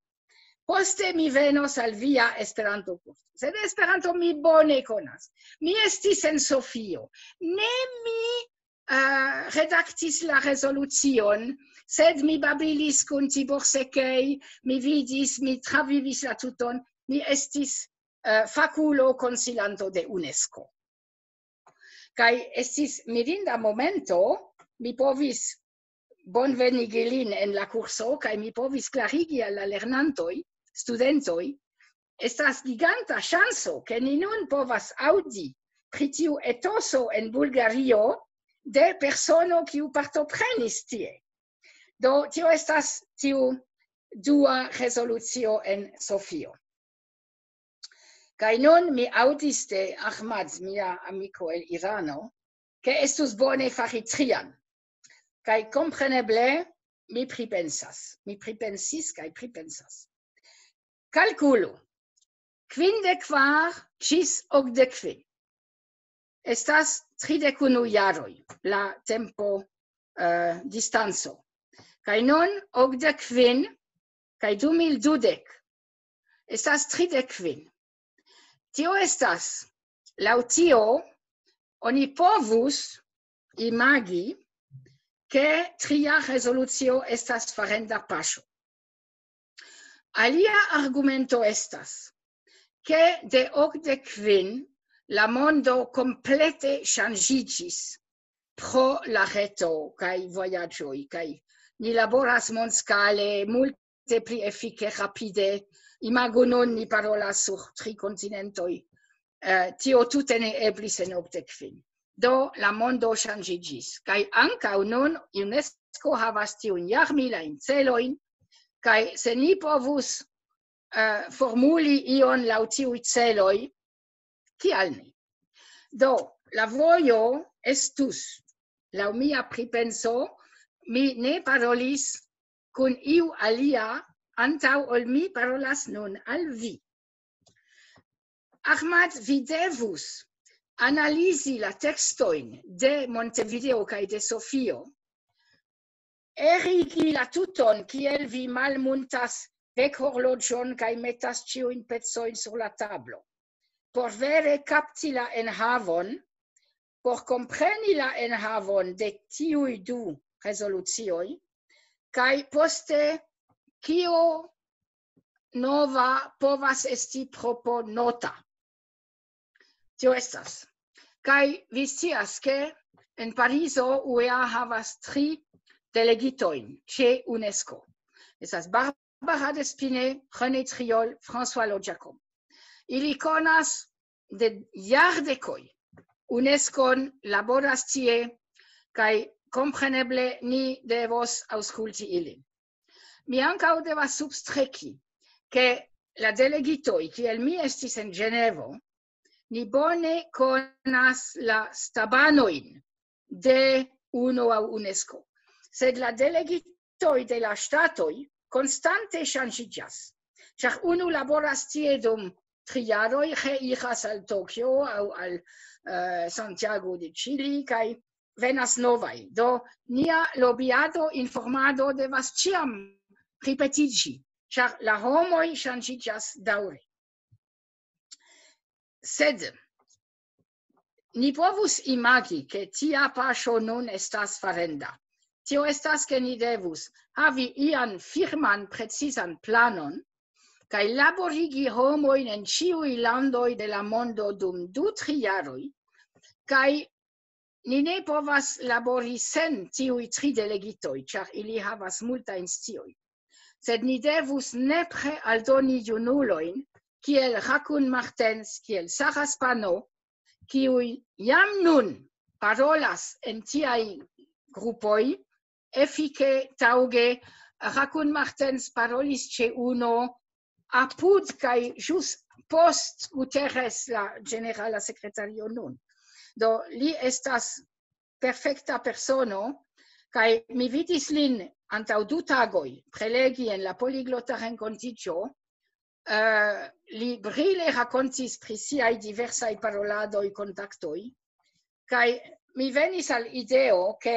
Poste mi venos al via Esperanto-kurso. Sed Esperanto mi bone konas. Mi estis en Sofio. Ne mi, eh, redaktis la rezolucion, sed mi babilis kun Tibor Sekej, mi vidis, mi travivis la tuton, mi estis, eh, fakulo konsilanto de UNESCO." Kaj estis mirinda momento, mi povis bonvenigi lin en la kurso, kaj mi povis klarigi al la lernantoj, studentoj, estas giganta ŝanso, ke ni nun povas aŭdi pri tiu etoso en Bulgario de persono, kiu partoprenis tie. Do, tio estas tiu dua rezolucio en Sofio. Kaj nun mi aŭdis de Ahmad, mia amiko el Irano, ke estus bone fari trian. Kaj kompreneble mi pripensas. Mi pripensis kaj pripensas. Kalkulu. Kvindek kvar ĝis okdek kvin. Estas tridek unu jaroj la tempo, eh, distanco. Kaj nun okdek kvin kaj du mil dudek estas tridek kvin. Tio estas, laŭ tio, oni povus imagi, ke tria rezolucio estas farenda paŝo. Alia argumento estas, ke de okdek kvin la mondo komplete ŝanĝiĝis pro la reto kaj vojaĝoj, kaj ni laboras mondskale multe pli efike, rapide. Imagu nun, ni parolas sur tri kontinentoj. Eh, tio tute ne eblis en okdek kvin. Do, la mondo ŝanĝiĝis. Kaj ankaŭ nun UNESCO havas tiun jarmilajn celojn, kaj se ni povus, eh, formuli ion laŭ tiuj celoj, kial ne? Do, la vojo estus, laŭ mia pripenso, mi ne parolis kun iu alia antaŭ ol mi parolas nun al vi. Ahmad, vi devus analizi la tekstojn de Montevideo kaj de Sofio, erigi la tuton, kiel vi malmuntas vekhorloĝon kaj metas ĉiujn pecojn sur la tablo, por vere kapti la enhavon, por kompreni la enhavon de tiuj du rezolucioj, kaj poste kio nova povas esti proponota. Tio estas. Kaj vi scias, ke en Parizo U E A havas tri delegitojn ĉe UNESCO. Estas Barbara Despine, René Triol, François Lo Giacomo. Ili konas de jardekoj UNESCO-n, laboras tie, kaj kompreneble ni devos aŭskulti ilin. mi ankaŭ devas substreki, ke la delegitoj, kiel mi estis en Ĝenevo, ni bone konas la stabanojn de UNO aŭ UNESCO. Sed la delegitoj de la ŝtatoj konstante ŝanĝiĝas, ĉar unu laboras tie dum tri jaroj, reiras al Tokio aŭ al, eh, Santiago de Chile, kaj venas novaj. Do, nia lobiado, informado devas ĉiam ripetiĝi, ĉar la homoj ŝanĝiĝas daŭre. Sed ni povus imagi, ke tia paŝo nun estas farenda. Tio estas, ke ni devus havi ian firman precizan planon, kaj laborigi homojn en ĉiuj landoj de la mondo dum du, tri jaroj, kaj ni ne povas labori sen tiuj tri delegitoj, ĉar ili havas multajn sciojn. Sed ni devus nepre aldoni junulojn, kiel Hakun Martens, kiel Sara Spano, kiuj jam nun parolas en tiaj grupoj, efike, taŭge. Hakun Martens parolis ĉe UNO apud kaj ĵus post Guterres, la ĝenerala sekretario nun. Do, li estas perfekta persono, kaj mi vidis lin antaŭ du tagoj prelegi en la poliglota renkontiĝo. Eh, li brile rakontis pri siaj diversaj paroladoj, kontaktoj, kaj mi venis al ideo, ke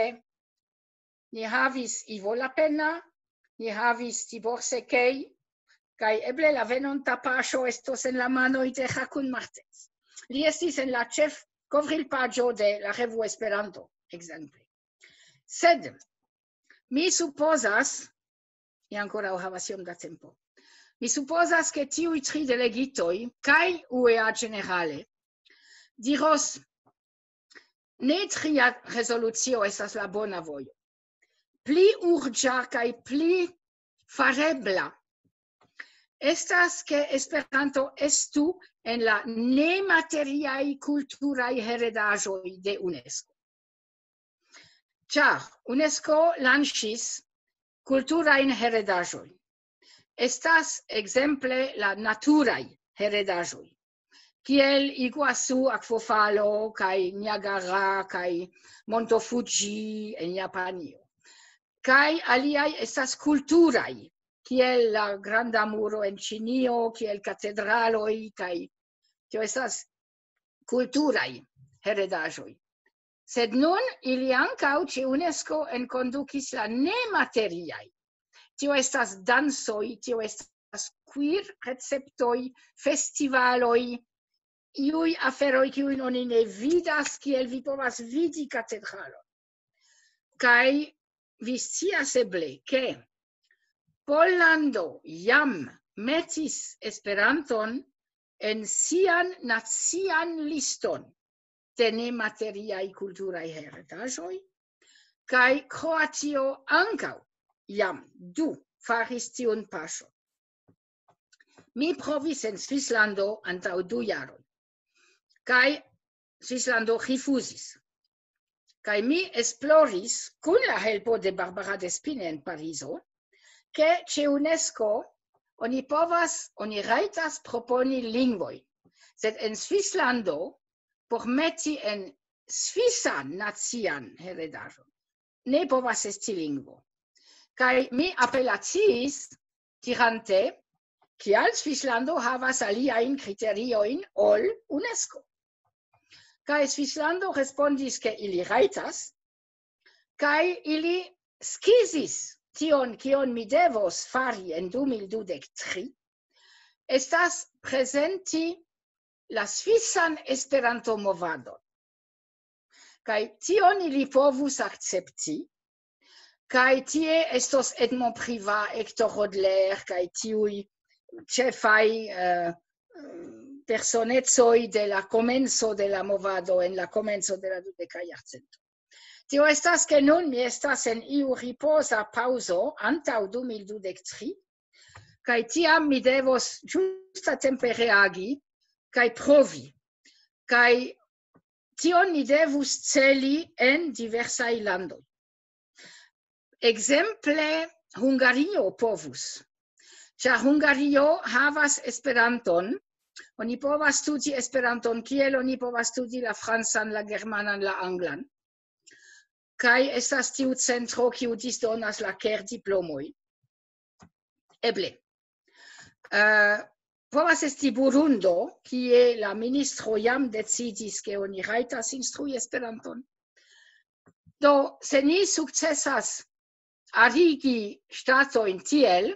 ni havis Ivo Lapenna, ni havis Tibor Sekej, kaj eble la venonta paŝo estos en la manoj de Hakun Martens. Li estis en la ĉefkovrilpaĝo de la revuo Esperanto, ekzemple. Sed mi supozas, mi ankoraŭ havas iom da tempo, mi supozas, ke tiuj tri delegitoj kaj U E A ĝenerale diros: "Ne, tria rezolucio estas la bona vojo. Pli urĝa kaj pli farebla estas, ke Esperanto estu en la nemateriaj kulturaj heredaĵoj de UNESCO." Ĉar UNESCO lanĉis kulturajn heredaĵojn. Estas ekzemple la naturaj heredaĵoj, kiel Iguazu akvofalo kaj Niagara kaj Monto Fuji en Japanio. Kaj aliaj estas kulturaj, kiel la Granda Muro en Ĉinio, kiel katedraloj, kaj tio estas kulturaj heredaĵoj. Sed nun ili ankaŭ ĉe UNESCO enkondukis la nemateriaj. Tio estas dancoj, tio estas queer receptoj, festivaloj, iuj aferoj, kiujn oni ne vidas, kiel vi povas vidi katedralon. Kaj vi scias eble, ke Pollando jam metis Esperanton en sian nacian liston de nemateriaj kulturaj heredaĵoj, kaj Kroatio ankaŭ jam du faris tiun paŝon. Mi provis en Svislando antaŭ du jaroj, kaj Svislando rifuzis. Kaj mi esploris kun la helpo de Barbara Despine en Parizo, ke ĉe UNESCO oni povas, oni rajtas proponi lingvojn, sed en Svislando por meti en svisan nacian heredaĵon ne povas esti lingvo. Kaj mi apelaciis dirante, kial Svislando havas aliajn kriteriojn ol UNESCO. Kaj Svislando respondis, ke ili rajtas, kaj ili skizis tion, kion mi devos fari en du mil dudek tri, estas prezenti la svisan Esperanto-movadon. Kaj tion ili povus akcepti, kaj tie estos Edmond Privat, Hector Roedler, kaj tiuj ĉefaj, eh, personecoj de la komenco de la movado en la komenco de la dudeka jarcento. Tio estas, ke nun mi estas en iu ripoza paŭzo antaŭ du mil dudek tri, kaj tiam mi devos ĝustatempe reagi kaj provi. Kaj tion mi devus celi en diversaj landoj. Ekzemple, Hungario povus. Ĉar Hungario havas Esperanton, oni povas studi Esperanton, kiel oni povas studi la francan, la germanan, la anglan. Kaj estas tiu centro, kiu disdonas la kerdiplomoj. Eble. Uh, povas esti Burundo, kie la ministro jam decidis, ke oni rajtas instrui Esperanton. Do, se ni sukcesas arigi ŝtatojn tiel,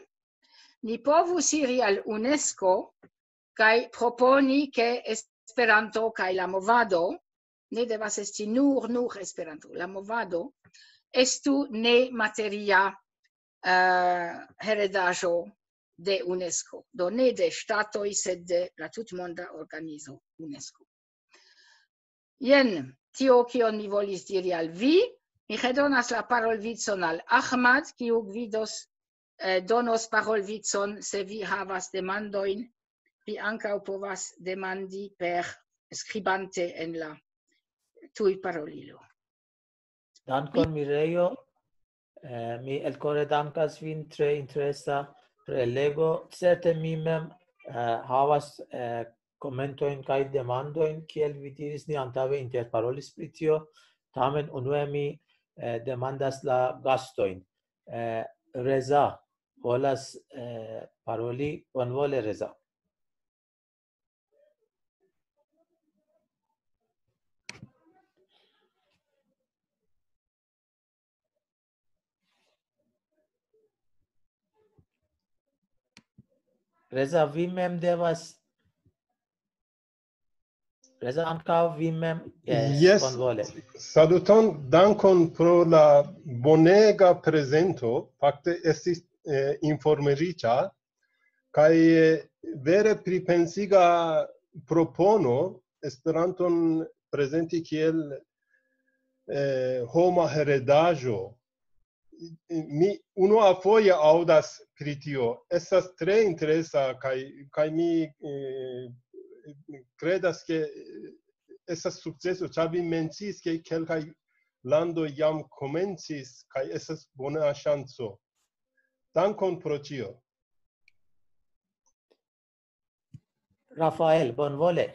ni povus iri al UNESCO kaj proponi, ke Esperanto kaj la movado, ne devas esti nur, nur Esperanto, la movado estu nemateria uh, heredaĵo de UNESCO, do ne de ŝtatoj, sed de la tutmonda organizo UNESCO. Jen tio, kion mi volis diri al vi. Mi redonas la parolvicon al Ahmad, kiu gvidos, eh, donos parolvicon, se vi havas demandojn, vi ankaŭ povas demandi per skribante en la tuj parolilo. Dankon, Mirejo. Eh, mi elkore dankas vin, tre interesa prelego. Certe mi mem eh, havas eh, komentojn kaj demandojn, kiel vi diris, ni antaŭe interparolis pri tio. Tamen unue mi eh, demandas la gastojn. Eh, Reza volas eh, paroli, bonvole, Reza. Reza, vi mem devas. Reza, ankaŭ vi mem. Yes, Yes. Bonvole. Saluton, dankon pro la bonega prezento. Fakte estis eh, informeriĉa kaj eh, vere pripensiga propono Esperanton prezenti kiel eh, homa heredaĵo. Mi unuafoje aŭdas pri tio. Estas tre interesa kaj, kaj mi eh, kredas, ke estas sukceso, ĉar vi menciis, ke kelkaj landoj jam komencis kaj estas bona ŝanco. Dankon pro tio. Rafael, bonvole.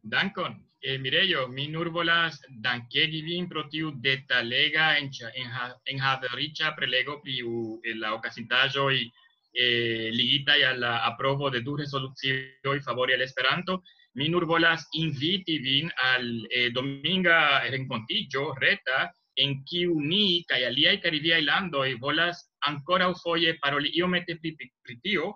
Dankon. Eh, Mirejo, mi nur volas dankegi vin pro tiu detalega enhaveriĉa prelego pri eh, la okazintaĵoj eh, ligitaj al la aprovo de du rezolucioj favori al Esperanto. Mi nur volas inviti vin al eh, dominga renkontiĝo reta en kiu ni kaj aliaj karibiaj landoj volas ankoraŭ foje paroli iomete pri, pri tio.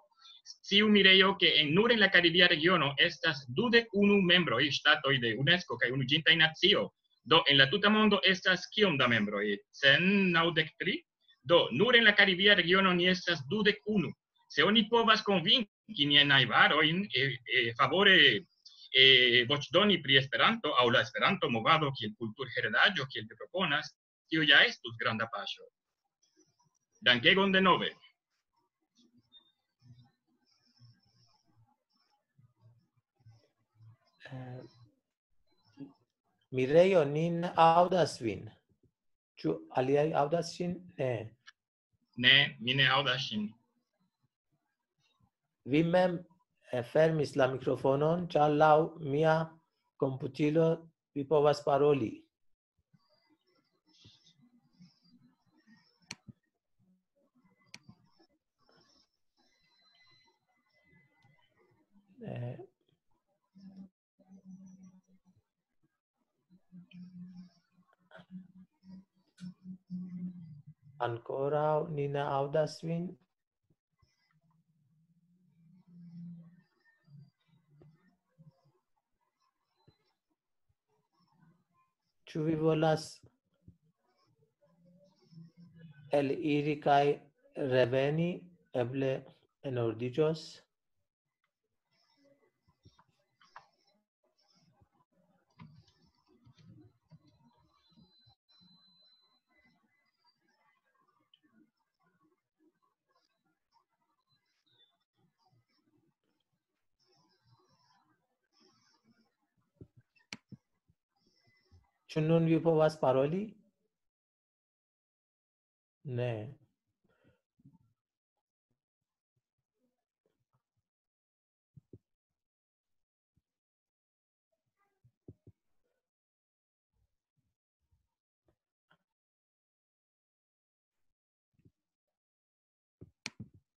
Sciu, Mirejo, ke en, nur en la karibia regiono estas dudek unu membroj, ŝtatoj de UNESCO kaj Unuiĝintaj Nacio. Do en la tuta mondo estas kiom da membroj? Cent naŭdek tri? Do nur en la karibia regiono ni estas dudek unu. Se oni povas konvinki niajn najbarojn eh, eh, favore eh, voĉdoni pri Esperanto aŭ la Esperanto-movado kiel kulturheredaĵo, kiel vi proponas, tio ja estus granda paŝo. Dankegon denove. Eh, Mirejo, ni ne aŭdas vin. Ĉu aliaj aŭdas ŝin? Ne. Ne, mi ne aŭdas ŝin. Vi mem eh, fermis la mikrofonon, ĉar laŭ mia komputilo vi povas paroli. Eh, Ankoraŭ ni ne aŭdas vin. Ĉu vi volas eliri kaj reveni? Eble enordiĝos. Ĉu nun vi povas paroli? Ne.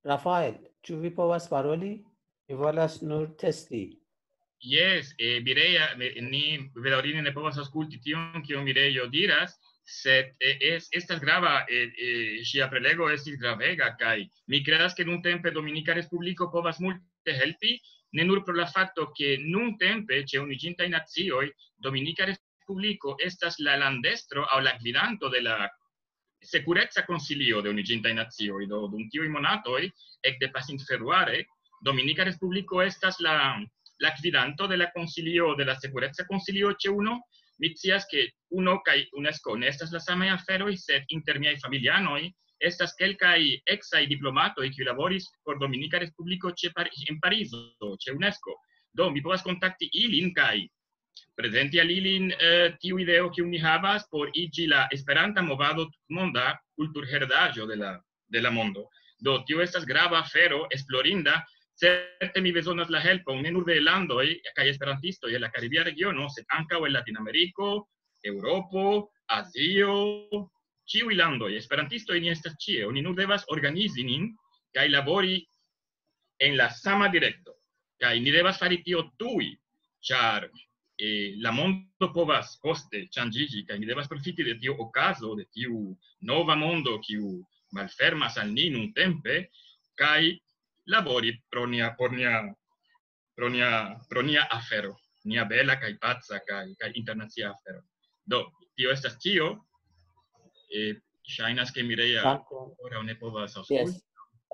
Rafael, ĉu vi povas paroli? Mi volas nur testi. Jes, eh, Mireia, eh, ni bedaŭrinde ne povas aŭskulti tion, kion Mireio diras, sed eh, es, estas grava, eh, eh, ŝia prelego estis gravega, kaj mi kredas, ke nuntempe Dominika Respubliko povas multe helpi, ne nur pro la fakto, ke nuntempe ĉe Unuiĝintaj Nacioj Dominika Respubliko estas la landestro aŭ la gvidanto de la Sekureca Konsilio de Unuiĝintaj Nacioj. Do, dum tiuj monatoj, ekde pasintfebruare, Dominika Respubliko estas la, la gvidanto de la Konsilio, de la Sekureca Konsilio ĉe uno. Mi scias, ke uno kaj UNESCO ne estas la samaj aferoj, sed inter miaj familianoj estas kelkaj eksaj diplomatoj, kiuj laboris por Dominika Respubliko ĉe Par-, en Parizo, ĉe UNESCO. Do, mi povas kontakti ilin kaj prezenti al ilin eh, tiu ideo, kiu ni havas por iĝi la Esperanta movado tutmonda kulturheredaĵo de la, de la mondo. Do, tio estas grava afero, esplorinda. Certe mi bezonas la helpon ne nur de landoj kaj esperantistoj el la Karibia regiono, sed ankaŭ el Latinameriko, Eŭropo, Azio, ĉiuj landoj. Esperantistoj ni estas ĉie. Oni nur devas organizi nin kaj labori en la sama direkto. Kaj ni devas fari tio tuj, ĉar eh, la mondo povas poste ŝanĝiĝi, kaj ni devas profiti de tiu okazo, de tiu nova mondo, kiu malfermas al ni nuntempe, kaj labori pro nia, por nia, pro nia, pro nia afero, nia bela kaj paca kaj, kaj internacia afero. Do, tio estas ĉio. Eh, ŝajnas, ke Mireia Dankon. Ankoraŭ ne povas aŭskulti. Yes.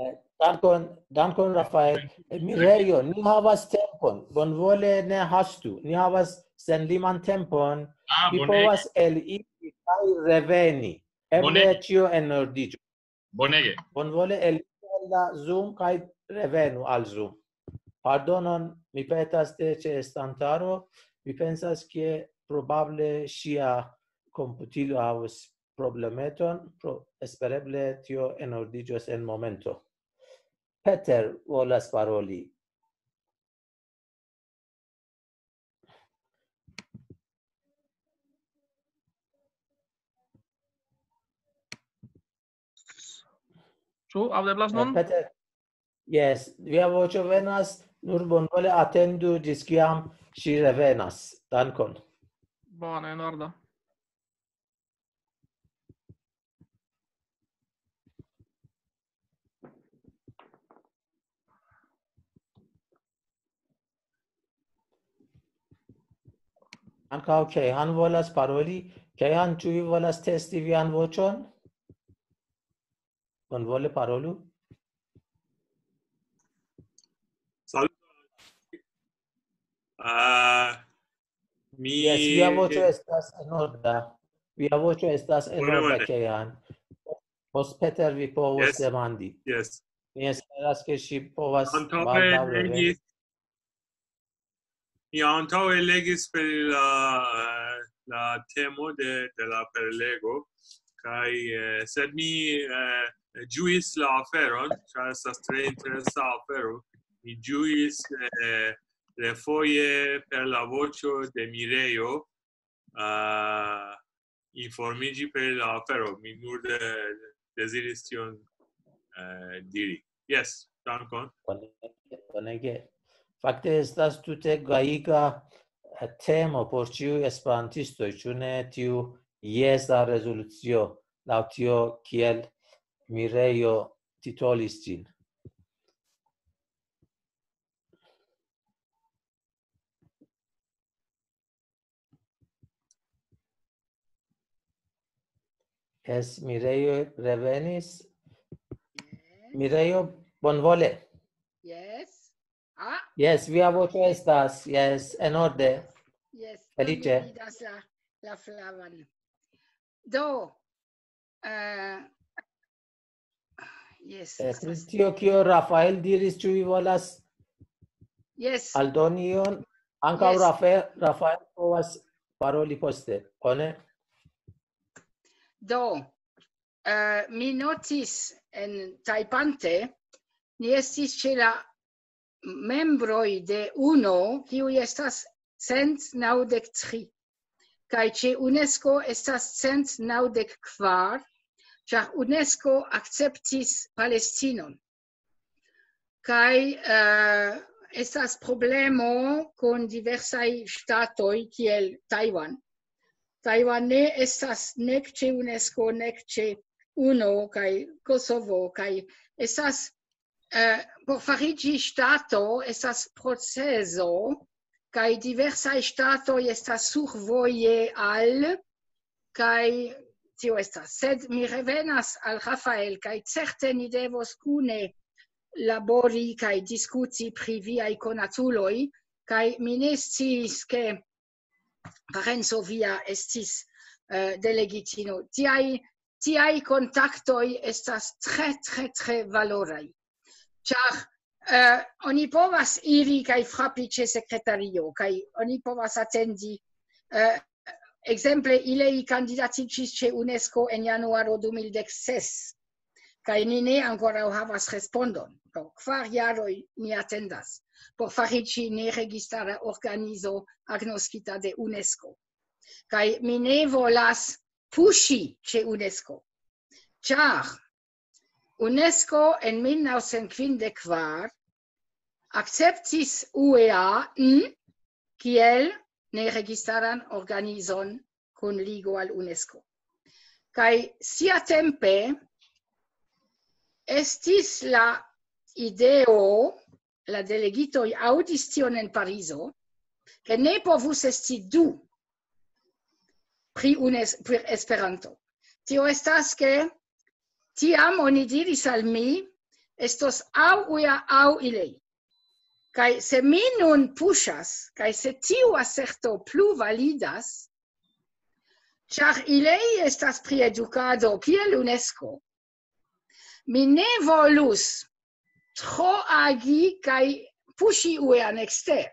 Eh, Dankon, dankon, Rafael. Eh, Mireio, ni havas tempon. Bonvole ne hastu. Ni havas senliman tempon. Ah, Vi bonege. Povas eliri kaj reveni. Eble Bonege. Ĉio enordiĝu. Bonege. Bonvole eliri el la Zoom kaj revenu al Zoom. Pardonon, mi petas de ĉeestantaro. Mi pensas, ke probable ŝia komputilo havus problemeton, pro, espereble tio enordiĝos en momento. Peter volas paroli. Ĉu aŭdeblas nun? Peter, yes, via voĉo venas, nur bonvole atendu ĝis kiam ŝi revenas. Dankon. Bone, en ordo. Ankaŭ Kehan volas paroli. Kehan, ĉu vi volas testi vian voĉon? Bonvole parolu. Salut. Uh, mi... Yes, via voĉo estas en orda. Via voĉo estas en orda, Kehan. Post Peter vi povos yes. demandi. Yes. Mi esperas, ke ŝi povas baldaŭ reveni. Mi antaŭe legis per la, la temo de, de la perlego, kaj eh, sed mi eh, ĝuis la aferon, ĉar estas tre interesa afero. Mi ĝuis eh, refoje per la voĉo de Mirejo uh, informiĝi per la afero. Mi nur de, deziris tion uh, diri. Yes, dankon. Bonege. Fakte estas tute gajiga eh, temo por ĉiuj esperantistoj, ĉu ne, tiu jesa rezolucio, laŭ tio kiel Mirejo titolis ĝin. Yes, Mirejo revenis. Mirejo, bonvole. Yes. Ah, Yes, via voĉo estas, yes, en orde. Yes. Felice. Mi vidas la, la flavan. Do, eh, yes. Eh, Pri tio, kio Rafael diris, ĉu vi volas Yes. aldoni ion? Ankaŭ Yes. Rafael, Rafael povas paroli poste, bone? Do, eh, mi notis en tajpante, ni estis ĉe la membroj de uno, kiuj estas cent naŭdek tri. Kaj ĉe UNESCO estas cent naŭdek kvar, ĉar UNESCO akceptis Palestinon. Kaj uh, estas problemo kun diversaj ŝtatoj kiel Tajvan. Tajvan ne estas nek ĉe UNESCO, nek ĉe UNO kaj Kosovo, kaj estas uh, por fariĝi ŝtato estas proceso, kaj diversaj ŝtatoj estas survoje al, kaj tio estas. Sed mi revenas al Rafael, kaj certe ni devos kune labori kaj diskuti pri viaj konatuloj, kaj mi ne sciis, ke parenco via estis uh, delegitino. Tiaj, tiaj kontaktoj estas tre, tre, tre valoraj. Ĉar uh, oni povas iri kaj frapi ĉe sekretario, kaj oni povas atendi uh, ekzemple, ili kandidatiĝis ĉe UNESCO en januaro du mil dek ses, kaj ni ne ankoraŭ havas respondon. Pro kvar jaroj ni atendas por fariĝi neregistara organizo agnoskita de UNESCO. Kaj mi ne volas puŝi ĉe UNESCO, ĉar UNESCO en mil naŭcent kvindek kvar akceptis U E A kiel neregistaran organizon kun ligo al UNESCO. Kaj siatempe estis la ideo, la delegitoj aŭdis tion en Parizo, ke ne povus esti du pri, UNES, pri Esperanto. Tio estas, ke tiam oni diris al mi, estos aŭ U E A aŭ ili. Kaj se mi nun puŝas, kaj se tiu aserto plu validas, ĉar ili estas pri edukado kiel UNESCO, mi ne volus tro agi kaj puŝi U E A-n ekster.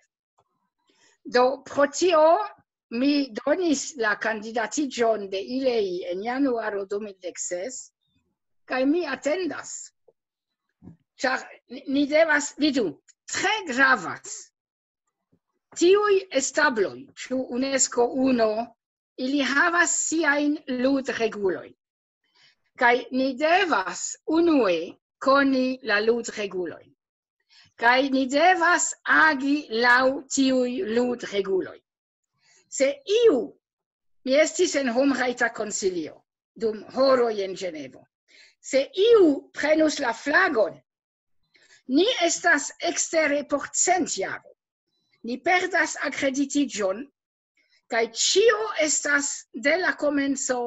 Do pro tio mi donis la kandidatiĝon de ili en januaro du mil dek ses, kaj mi atendas. Ĉar ni, ni devas, vidu, tre gravas. Tiuj establoj, ĉu UNESCO, UNO, ili havas siajn ludregulojn. Kaj ni devas unue koni la ludregulojn. Kaj ni devas agi laŭ tiuj ludreguloj. Se iu, mi estis en Homrajta Konsilio dum horoj en Ĝenevo, se iu prenus la flagon, ni estas ekstere por cent jaroj. Ni perdas akreditiĝon, kaj ĉio estas de la komenco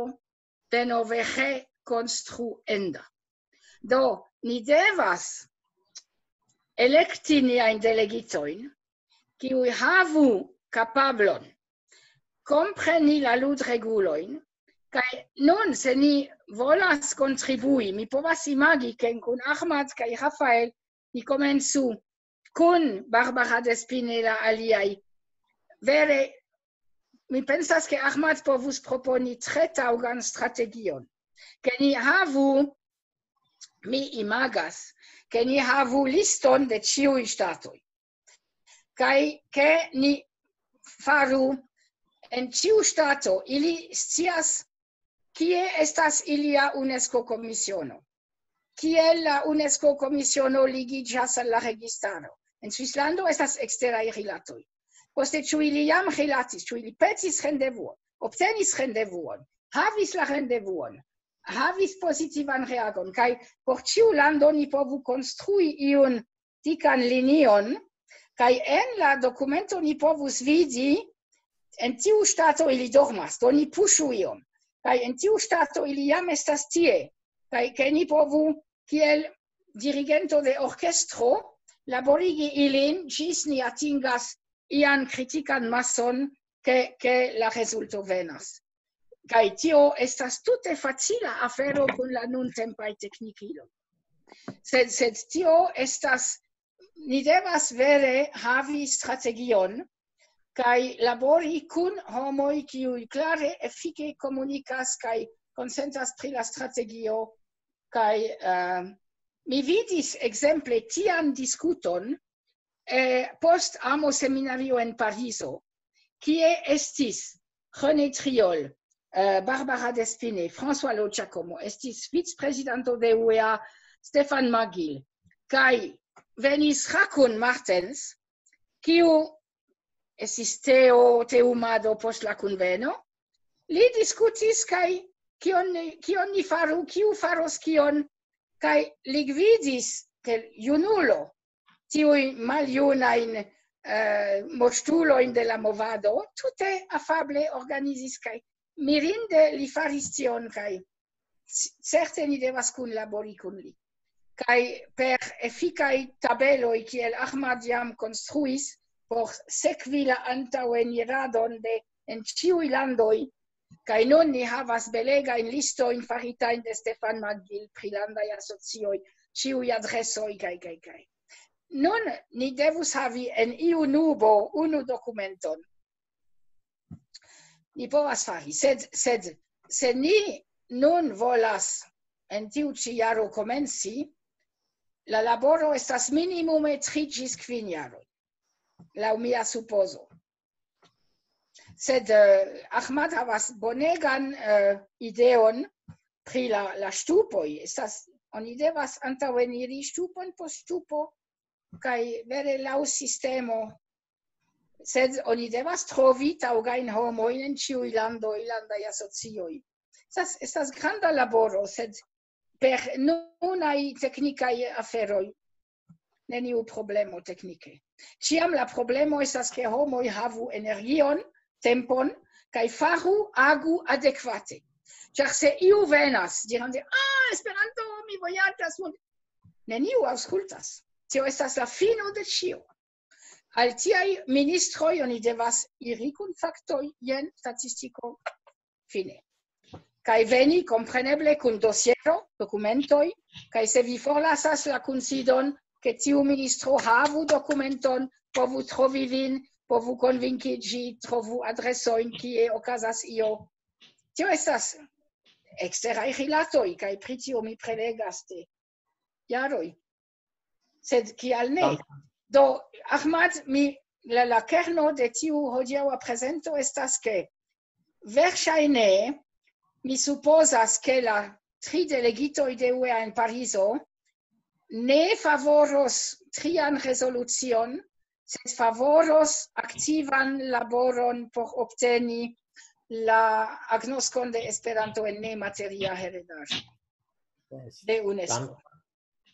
denove rekonstruenda. Do, ni devas elekti niajn delegitojn, kiuj havu kapablon kompreni la ludregulojn, kaj nun, se ni volas kontribui, mi povas imagi, ke kun Ahmad kaj Rafael ni komencu kun Barbara Despine la aliaj. Vere, mi pensas, ke Ahmad povus proponi tre taŭgan strategion, ke ni havu, mi imagas, ke ni havu liston de ĉiuj ŝtatoj, kaj ke ni faru en ĉiu ŝtato, ili scias, kie estas ilia UNESCO komisiono, kiel la UNESCO komisiono ligiĝas al la registaro. En Svislando estas eksteraj rilatoj. Poste, ĉu ili jam rilatis, ĉu ili petis rendevuon, obtenis rendevuon, havis la rendevuon, havis pozitivan reagon, kaj por ĉiu lando ni povu konstrui iun tikan linion, kaj en la dokumento ni povus vidi, en tiu ŝtato ili dormas, do ni puŝu iom, kaj en tiu ŝtato ili jam estas tie, kaj ke ni povu, kiel dirigento de orkestro, laborigi ilin ĝis ni atingas ian kritikan mason, ke, ke la rezulto venas. Kaj tio estas tute facila afero kun la nuntempaj teknikiloj. Sed, sed tio estas, ni devas vere havi strategion kaj labori kun homoj, kiuj klare, efike komunikas kaj konsentas pri la strategio. Kaj uh, mi vidis ekzemple tian diskuton eh, post amo seminario en Parizo, kie estis René Triol, eh, Barbara Despine, François Lo Giacomo, estis vicprezidanto de U E A, Stefan Magil, kaj venis Hakun Martens, kiu estis teo teumado post la kunveno, li diskutis kaj kion, kion ni faru, kiu faros kion, kaj li gvidis, ke junulo, tiuj maljunajn eh, mortulojn de la movado, tute afable organizis kaj mirinde li faris tion kaj certe ni devas kunlabori kun li. Kaj per efikaj tabeloj, kiel Ahmad jam konstruis, por sekvi la antaŭeniradon de en ĉiuj landoj, kaj nun ni havas belegajn listojn faritajn de Stefan Magil pri landaj asocioj, ĉiuj adresoj, kaj, kaj, kaj. Nun ni devus havi en iu nubo unu dokumenton. Ni povas fari, sed, sed se ni nun volas en tiu ĉi jaro komenci, la laboro estas minimume tri ĝis kvin jaroj, laŭ mia supozo. Sed eh, Ahmad havas bonegan eh, ideon pri la, la ŝtupoj. Estas, oni devas antaŭeniri ŝtupon post ŝtupo, kaj vere laŭ sistemo. Sed oni devas trovi taŭgajn homojn en ĉiuj landoj, landaj asocioj. Estas, estas granda laboro, sed per nunaj teknikaj aferoj neniu problemo teknike. Ĉiam la problemo estas, ke homoj havu energion, tempon, kaj faru, agu adekvate. Ĉar se iu venas, dirante, ah, Esperanto, mi vojaĝas, multe, neniu aŭskultas. Tio estas la fino de ĉio. Al tiaj ministroj oni devas iri kun faktoj, jen statistiko, fine. Kaj veni, kompreneble, kun dosiero, dokumentoj, kaj se vi forlasas la kunsidon, ke tiu ministro havu dokumenton, povu trovi vin, povu konvinkiĝi, trovu adresojn, kie okazas io. Tio estas eksteraj rilatoj, kaj pri tio mi prelegas de jaroj. Sed kial ne? Do, Ahmad, mi, la, la kerno de tiu hodiaŭa prezento estas, ke verŝajne mi supozas, ke la tri delegitoj de U E A en Parizo ne favoros trian rezolucion, sed favoros aktivan laboron por obteni la agnoskon de Esperanto en nemateria heredaĵo de UNESCO.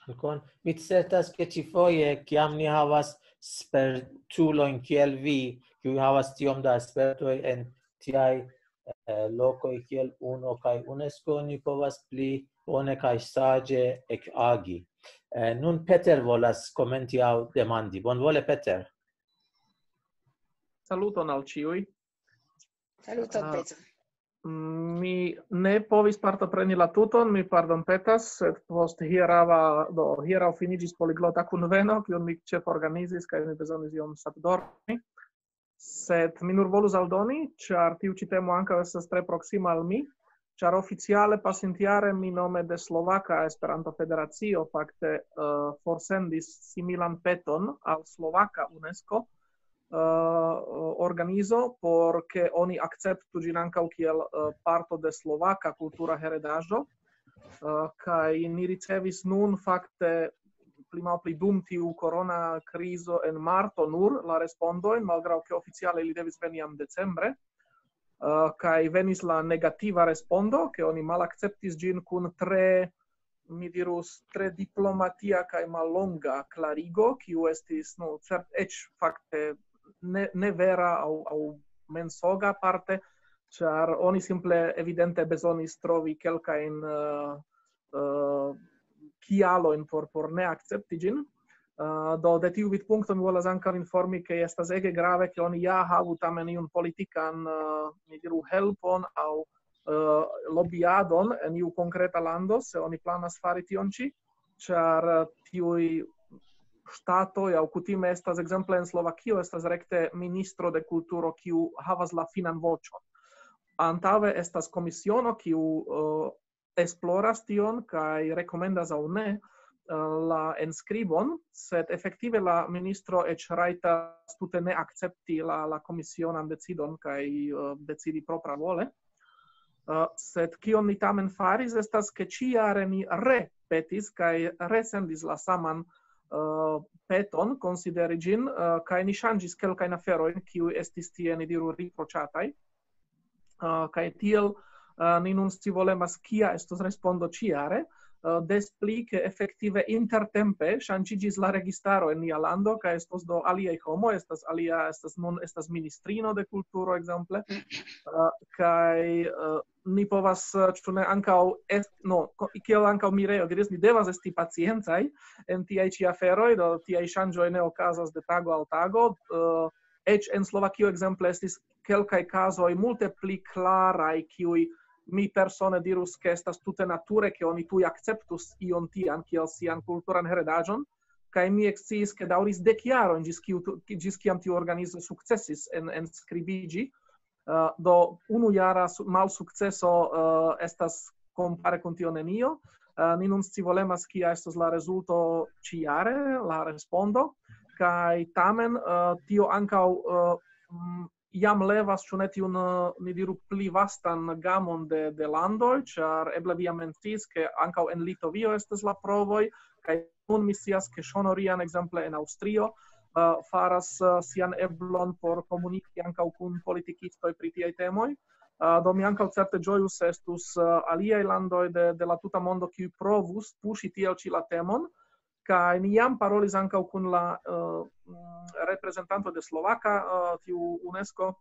Dankon. Mi certas, ke ĉifoje, kiam ni havas spertulojn kiel vi, kiuj havas tiom da spertoj en tiaj eh, lokoj kiel uno kaj UNESCO, ni povas pli bone kaj saĝe ekagi. Eh, nun Peter volas komenti aŭ demandi. Bonvole, Peter. Saluton al ĉiuj. Saluton, Peter. Mi ne povis partopreni la tuton, mi pardonpetas, sed post hieraŭa, do, hieraŭ finiĝis poliglota kunveno, kiun mi ĉeforganizis, kaj mi bezonis iom satdormi. Sed mi nur volus aldoni, ĉar tiu ĉi temo ankaŭ estas tre proksima al mi, ĉar oficiale pasintjare mi nome de Slovaka Esperanto-Federacio fakte uh, forsendis similan peton al Slovaka UNESCO uh, organizo, por ke oni akceptu ĝin ankaŭ kiel uh, parto de slovaka kultura heredaĵo. Uh, kaj ni ricevis nun fakte pli malpli dum tiu korona krizo en marto nur la respondojn, malgraŭ ke oficiale ili devis veni jam decembre. Uh, kaj venis la negativa respondo, ke oni malakceptis ĝin kun tre, mi dirus, tre diplomatia kaj mallonga klarigo, kiu estis, nu, cert eĉ fakte ne, ne vera aŭ, aŭ mensoga parte, ĉar oni simple evidente bezonis trovi kelkajn uh, uh, kialojn por, por ne akcepti ĝin. Uh, do de tiu vidpunkto mi volas ankaŭ informi, ke estas ege grave, ke oni ja havu tamen iun politikan, uh, mi diru, helpon aŭ uh, lobiadon en iu konkreta lando, se oni planas fari tion ĉi, ĉar uh, tiuj ŝtatoj aŭ kutime estas, ekzemple en Slovakio estas rekte ministro de kulturo, kiu havas la finan voĉon. Antaŭe estas komisiono, kiu uh, esploras tion kaj rekomendas aŭ ne uh, la enskribon, sed efektive la ministro eĉ rajtas tute ne akcepti la, la komisionan decidon kaj uh, decidi propra vole. Uh, sed kion ni tamen faris, estas, ke ĉiare ni repetis kaj resendis la saman eh, peton, konsideri ĝin, eh, kaj ni ŝanĝis kelkajn aferojn, kiuj estis tie, ni diru, riproĉataj. Eh, kaj tiel, eh, ni nun scivolemas, kia estos respondo ĉiare, eh, des pli, ke efektive intertempe ŝanĝiĝis la registaro en nia lando, kaj estos do aliaj homoj, estas alia, estas nun, estas ministrino de kulturo, ekzemple, eh, kaj, eh, ni povas, eh, ĉu ne, ankaŭ est-, no, ko-, kiel ankaŭ Mirejo diris, ni devas esti paciencaj en tiaj ĉi aferoj, do tiaj ŝanĝoj ne okazas de tago al tago, eh, eĉ en Slovakio, ekzemple, estis kelkaj kazoj multe pli klaraj, kiuj mi persone dirus, ke estas tute nature, ke oni tuj akceptus ion tian kiel sian kulturan heredaĵon, kaj mi eksciis, ke daŭris dek jarojn ĝis kiu tu-, ĝis kiam tiu organizo sukcesis en, enskribiĝi. Eh, do unujara su-, malsukceso, eh, estas kompare kun tio nenio. Eh, ni nun scivolemas, kia estos la rezulto ĉiare, la respondo, kaj tamen, eh, tio ankaŭ, eh, mm, jam levas, ĉu ne, tiun, eh, ni diru, pli vastan gamon de, de landoj, ĉar eble vi jam menciis, ke ankaŭ en Litovio estas la provoj, kaj nun mi scias, ke Ŝonorian, ekzemple, en Aŭstrio, eh, faras, eh, sian eblon por komuniki ankaŭ kun politikistoj pri tiaj temoj. Eh, do mi ankaŭ certe ĝojus, se estus, eh, aliaj landoj de, de la tuta mondo, kiuj provus puŝi tiel ĉi la temon, kaj ni jam parolis ankaŭ kun la, eh, mm, reprezentanto de Slovaka, eh, tiu UNESCO,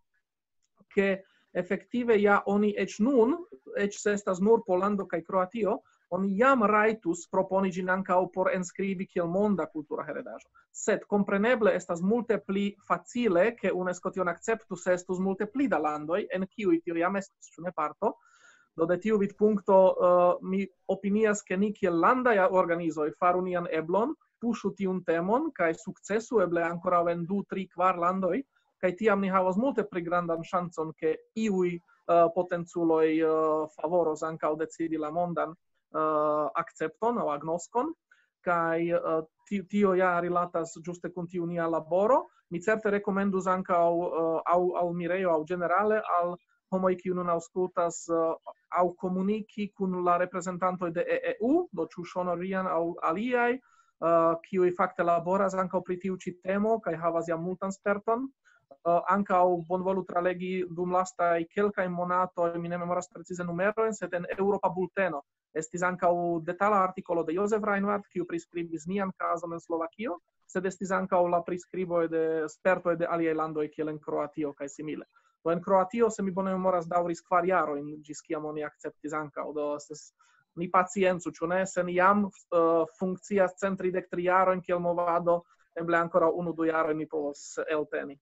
ke efektive ja oni eĉ nun, eĉ se estas nur Pollando kaj Kroatio, oni jam rajtus proponi ĝin ankaŭ por enskribi kiel monda kultura heredaĵo. Sed kompreneble estas multe pli facile, ke UNESCO tion akceptu, se estus multe pli da landoj, en kiuj tio jam estus, ĉu ne, parto. Do de tiu vidpunkto, eh, mi opinias, ke ni kiel landaj organizoj faru nian eblon, puŝu tiun temon, kaj sukcesu eble ankoraŭ en du, tri, kvar landoj, kaj tiam ni havos multe pli grandan ŝancon, ke iuj, eh, potenculoj, eh, favoros ankaŭ decidi la mondan, eh, akcepton aŭ agnoskon, kaj, eh, ti-, tio ja rilatas ĝuste kun tiu nia laboro. Mi certe rekomendus ankaŭ, eh, aŭ al Mirejo, aŭ ĝenerale al homoj, kiuj nun aŭskultas, eh, aŭ komuniki kun la reprezentantoj de E E U, do ĉu Ŝonorian aŭ aliaj, eh, kiuj fakte laboras ankaŭ pri tiu ĉi temo kaj havas jam multan sperton. Eh, ankaŭ bonvolu tralegi dum lastaj kelkaj monatoj, mi ne memoras precize numerojn, sed en Eŭropa Bulteno estis ankaŭ detala artikolo de Josef Reinhardt, kiu priskribis nian kazon en Slovakio, sed estis ankaŭ la priskriboj de spertoj de aliaj landoj, kiel en Kroatio kaj simile. Do en Kroatio, se mi bone memoras, daŭris kvar jarojn, ĝis kiam oni akceptis ankaŭ. Do estas, ni paciencu, ĉu ne? Se ni jam, eh, funkcias cent tridek tri jarojn kiel movado, eble ankoraŭ unu, du jarojn ni povos elteni.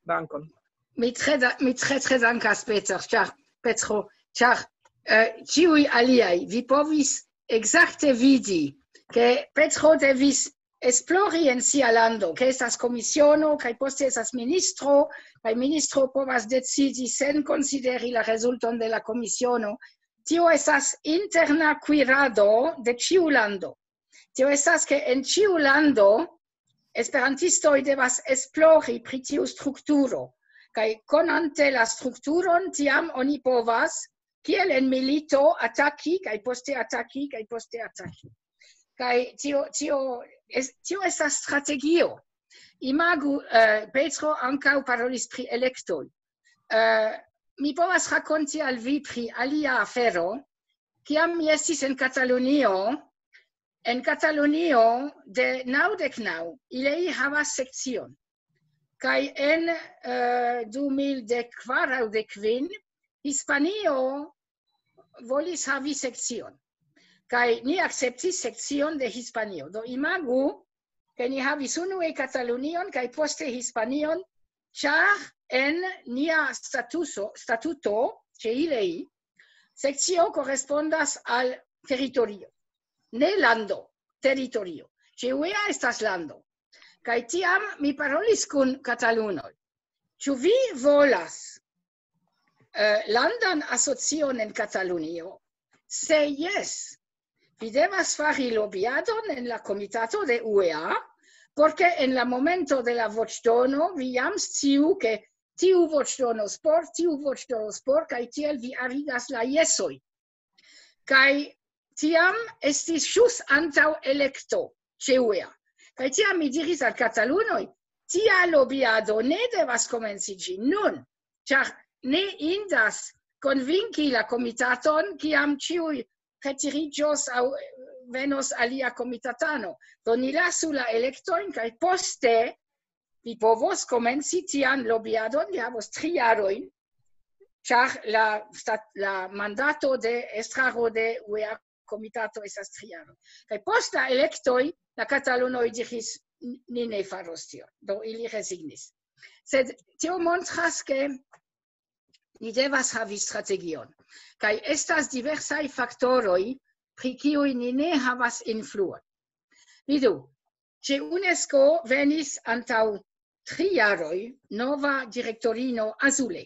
Dankon. Mi tre da-, mi tre, tre dankas, Peter, ĉar, Petro, ĉar, eh, ĉiuj aliaj, vi povis ekzakte vidi, ke Petro devis esplori en sia lando, ke estas komisiono, kaj poste estas ministro, kaj ministro povas decidi sen konsideri la rezulton de la komisiono. Tio estas interna kuirado de ĉiu lando. Tio estas, ke en ĉiu lando esperantistoj devas esplori pri tiu strukturo, kaj konante la strukturon, tiam oni povas, kiel en milito, ataki, kaj poste ataki, kaj poste ataki. Kaj tio, tio es-, tio estas strategio. Imagu, eh, Petro ankaŭ parolis pri elektoj. Eh, mi povas rakonti al vi pri alia afero. Kiam mi estis en Katalunio, en Katalunio de naŭdek naŭ, ili havas sekcion. Kaj en, eh, du mil dek kvar aŭ dek kvin, Hispanio volis havi sekcion. Kaj ni akceptis sekcion de Hispanio. Do imagu, ke ni havis unue Katalunion kaj poste Hispanion, ĉar en nia statuso, statuto, ĉe ilei, sekcio korespondas al teritorio. Ne lando, teritorio. Ĉe U E A estas lando. Kaj tiam mi parolis kun katalunoj. Ĉu vi volas, eh, landan asocion en Katalunio? Se jes, vi devas fari lobiadon en la komitato de U E A, porque en la momento de la voĉdono vi jam sciu, ke tiu voĉdonos por, tiu voĉdonos por, kaj tiel vi arigas la jesoj. Kaj tiam estis ĵus antaŭ elekto ĉe U E A. Kaj tiam mi diris al katalunoj, tia lobiado ne devas komenciĝi nun, ĉar ne indas konvinki la komitaton, kiam ĉiuj retiriĝos aŭ venos alia komitatano. Do ni lasu la elektojn kaj poste vi povos komenci tian lobiadon, vi havos tri jarojn, ĉar la, stat, la mandato de estraro de U E A komitato estas tri jaroj. Kaj post la elektoj la katalunoj diris, ni ne faros tion. Do ili rezignis. Sed tio montras, ke ni devas havi strategion. Kaj estas diversaj faktoroj, pri kiuj ni ne havas influon. Vidu, ĉe UNESCO venis antaŭ tri jaroj nova direktorino Azule.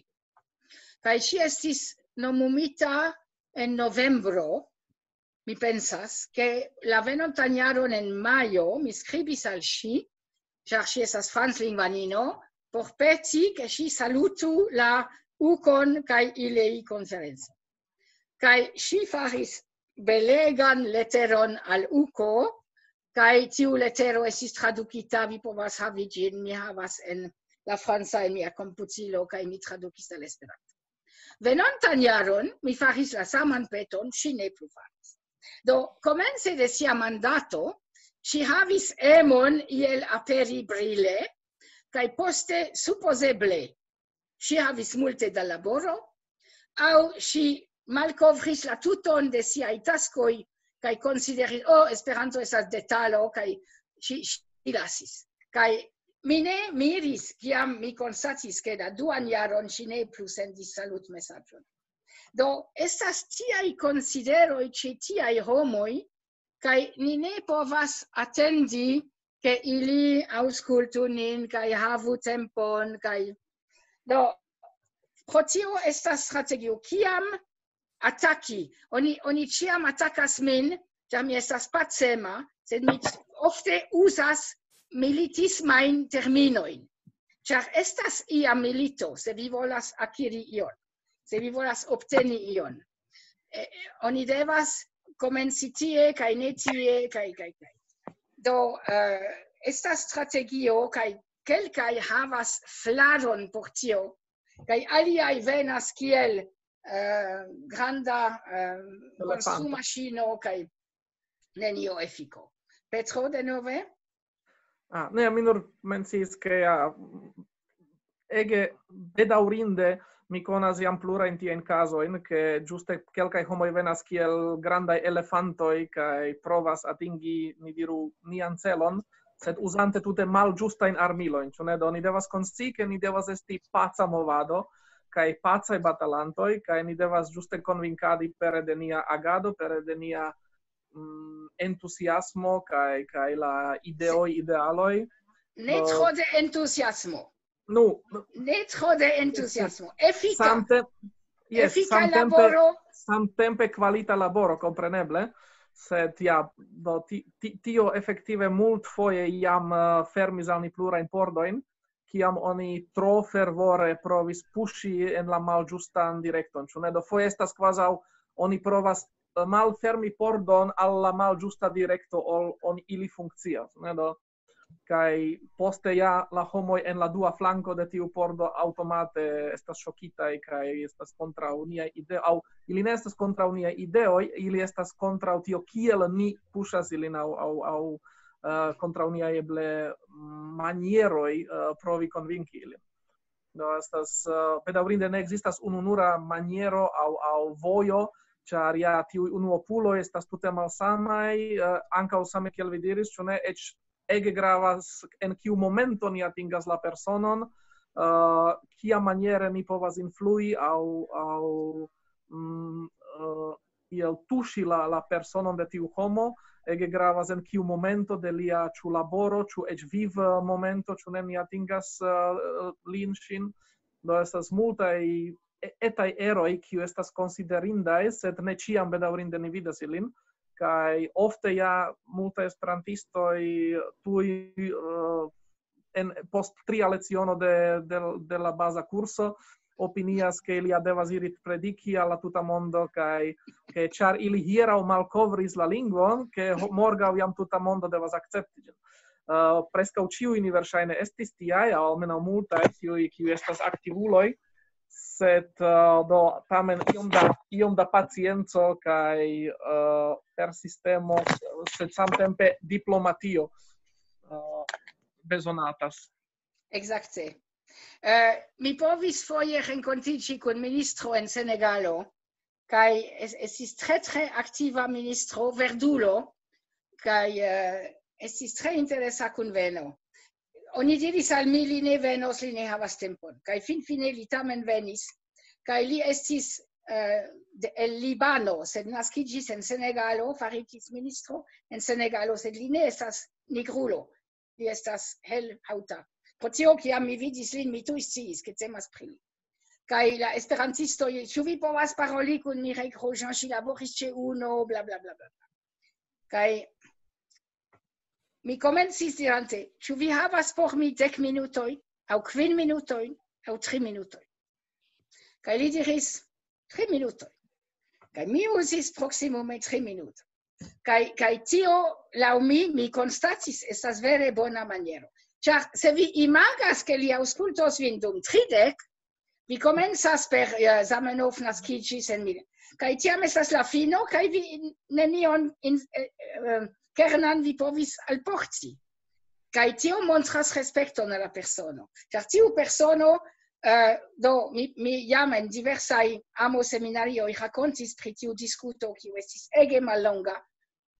Kaj ŝi estis nomumita en novembro, mi pensas, ke la venontan jaron en majo mi skribis al ŝi, ĉar ŝi estas franclingvanino, por peti, ke ŝi salutu la ukon kaj ilei konferenco. Kaj ŝi faris belegan leteron al uko, kaj tiu letero estis tradukita, vi povas havi ĝin, mi havas en la franca en mia komputilo, kaj mi tradukis al Esperanto. Venontan jaron mi faris la saman peton, ŝi ne plu faris. Do, komence de sia mandato, ŝi havis emon iel aperi brile, kaj poste supozeble ŝi havis multe da laboro, aŭ ŝi malkovris la tuton de siaj taskoj, kaj konsideris, oh, Esperanto estas detalo, kaj ŝi, ŝi lasis. Kaj mi ne miris, kiam mi konstatis, ke la duan jaron ŝi ne plu sendis salutmesaĝon. Do, estas tiaj konsideroj ĉe tiaj homoj, kaj ni ne povas atendi, ke ili aŭskultu nin, kaj havu tempon, kaj... Do, pro tio estas strategio, kiam ataki. Oni, oni ĉiam atakas min, ĉar mi estas pacema, sed mi ofte uzas militismajn terminojn. Ĉar estas ia milito, se vi volas akiri ion, se vi volas obteni ion. Eh, oni devas komenci tie, kaj ne tie, kaj, kaj, kaj. Do, eh, estas strategio, kaj kelkaj havas flaron por tio, kaj aliaj venas kiel, eh, granda, eh, konstrumaŝino, kaj nenio efiko. Petro, denove? Ah, ne, mi nur menciis, ke ja, ege bedaŭrinde mi konas jam plurajn tiajn kazojn, ke ĝuste kelkaj homoj venas kiel grandaj elefantoj kaj provas atingi, ni diru, nian celon, sed uzante tute malĝustajn armilojn, ĉu ne? Do ni devas konscii, ke ni devas esti paca movado kaj pacaj batalantoj, kaj ni devas ĝuste konvinkadi pere de nia agado, pere de nia, mm, entuziasmo kaj, kaj la ideoj, idealoj. Ne tro de entuziasmo. Nu, Ne tro de entuziasmo. Efika. Samte-, yes, Efika samtempe, laboro. Samtempe kvalita laboro, kompreneble. Sed ja, do, ti, ti, tio efektive multfoje jam, eh, fermis al ni plurajn pordojn, kiam oni tro fervore provis puŝi en la malĝustan direkton. Ĉu ne? Do foje estas kvazaŭ oni provas, eh, malfermi pordon al la malĝusta direkto, ol on ili funkcias, ne? Do, kaj poste ja la homoj en la dua flanko de tiu pordo aŭtomate estas ŝokitaj kaj estas kontraŭ niaj ideoj, aŭ ili ne estas kontraŭ niaj ideoj, ili estas kontraŭ tio, kiel ni puŝas ilin, aŭ, aŭ, aŭ, eh, kontraŭ niaj eble manieroj, eh, provi konvinki ilin. Do estas, eh, bedaŭrinde ne ekzistas ununura maniero aŭ, aŭ vojo, ĉar ja tiuj unuopuloj estas tute malsamaj, eh, ankaŭ same kiel vi diris, ĉu ne, eĉ ege gravas, en kiu momento ni atingas la personon, eh, kia maniere ni povas influi aŭ, aŭ, mm, eh, kiel tuŝi la, la personon de tiu homo, ege gravas en kiu momento de lia ĉu laboro, ĉu eĉ viv, eh, momento, ĉu ne, ni atingas, eh, lin, ŝin. Do estas multaj e-, etaj eroj, kiu estas konsiderindaj, sed ne ĉiam bedaŭrinde ni vidas ilin. Kaj ofte ja multaj esperantistoj tuj, eh, en, post tria leciono de, de, de la baza kurso opinias, ke ili ja devas iri prediki al la tuta mondo, kaj ke ĉar ili hieraŭ malkovris la lingvon, ke ho-, morgaŭ jam tuta mondo devas akcepti ĝin. Uh, preskaŭ ĉiuj ni verŝajne estis tiaj, aŭ almenaŭ multaj tiuj, kiuj estas aktivuloj, sed uh, do tamen iom da, iom da pacienco kaj uh, per sistemo, sed samtempe diplomatio uh, bezonatas. Exacte. Uh, mi povis foje renkontiĝi kun ministro en Senegalo, kaj estis tre, tre aktiva ministro, verdulo, kaj uh, estis tre interesa kunveno. Oni diris al mi, li ne venos, li ne havas tempon. Kaj finfine li tamen venis, kaj li estis uh, de, el Libano, sed naskiĝis en Senegalo, faritis ministro en Senegalo, sed li ne estas nigrulo, li estas helhaŭta. Pro tio, kiam mi vidis lin, mi tuj sciis, ke temas pri li. Kaj la esperantistoj, ĉu vi povas paroli kun Mireille Grosjean, ŝi laboris ĉe UNO, bla, bla, bla, bla. Kaj mi komencis dirante, ĉu vi havas por mi dek minutojn, aŭ kvin minutojn, aŭ tri minutojn? Kaj li diris, tri minutojn. Kaj mi uzis proksimume tri minutojn. Kaj, kaj tio, laŭ mi, mi konstatis, estas vere bona maniero. Ĉar se vi imagas, ke li aŭskultos vin dum tridek, vi komencas per uh, Zamenhof naskiĝis en mil. Kaj tiam estas la fino, kaj vi nenion in, uh, kernan vi povis alporti. Kaj tio montras respekton al la persono. Ĉar tiu persono, uh, do, mi, mi jam en diversaj amo-seminarioj rakontis pri tiu diskuto, kiu estis ege mallonga,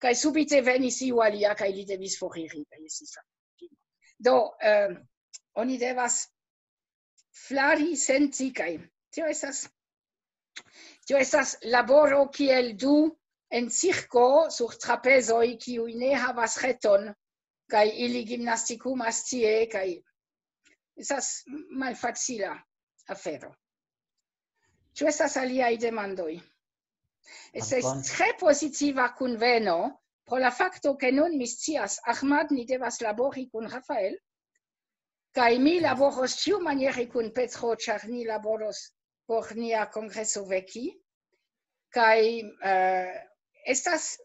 kaj subite venis iu alia, kaj li devis foriri, kaj estis la fino. Do, uh, oni devas flari senti, kaj tio estas, tio estas laboro kiel du en cirko sur trapezoj, kiuj ne havas reton, kaj ili gimnastikumas tie, kaj estas malfacila afero. Ĉu estas aliaj demandoj? Estas tre pozitiva kunveno pro la fakto, ke nun mi scias, Ahmad, ni devas labori kun Rafael, kaj mi laboros ĉiumaniere kun Petro, ĉar ni laboros por nia kongreso veki. Kaj uh, estas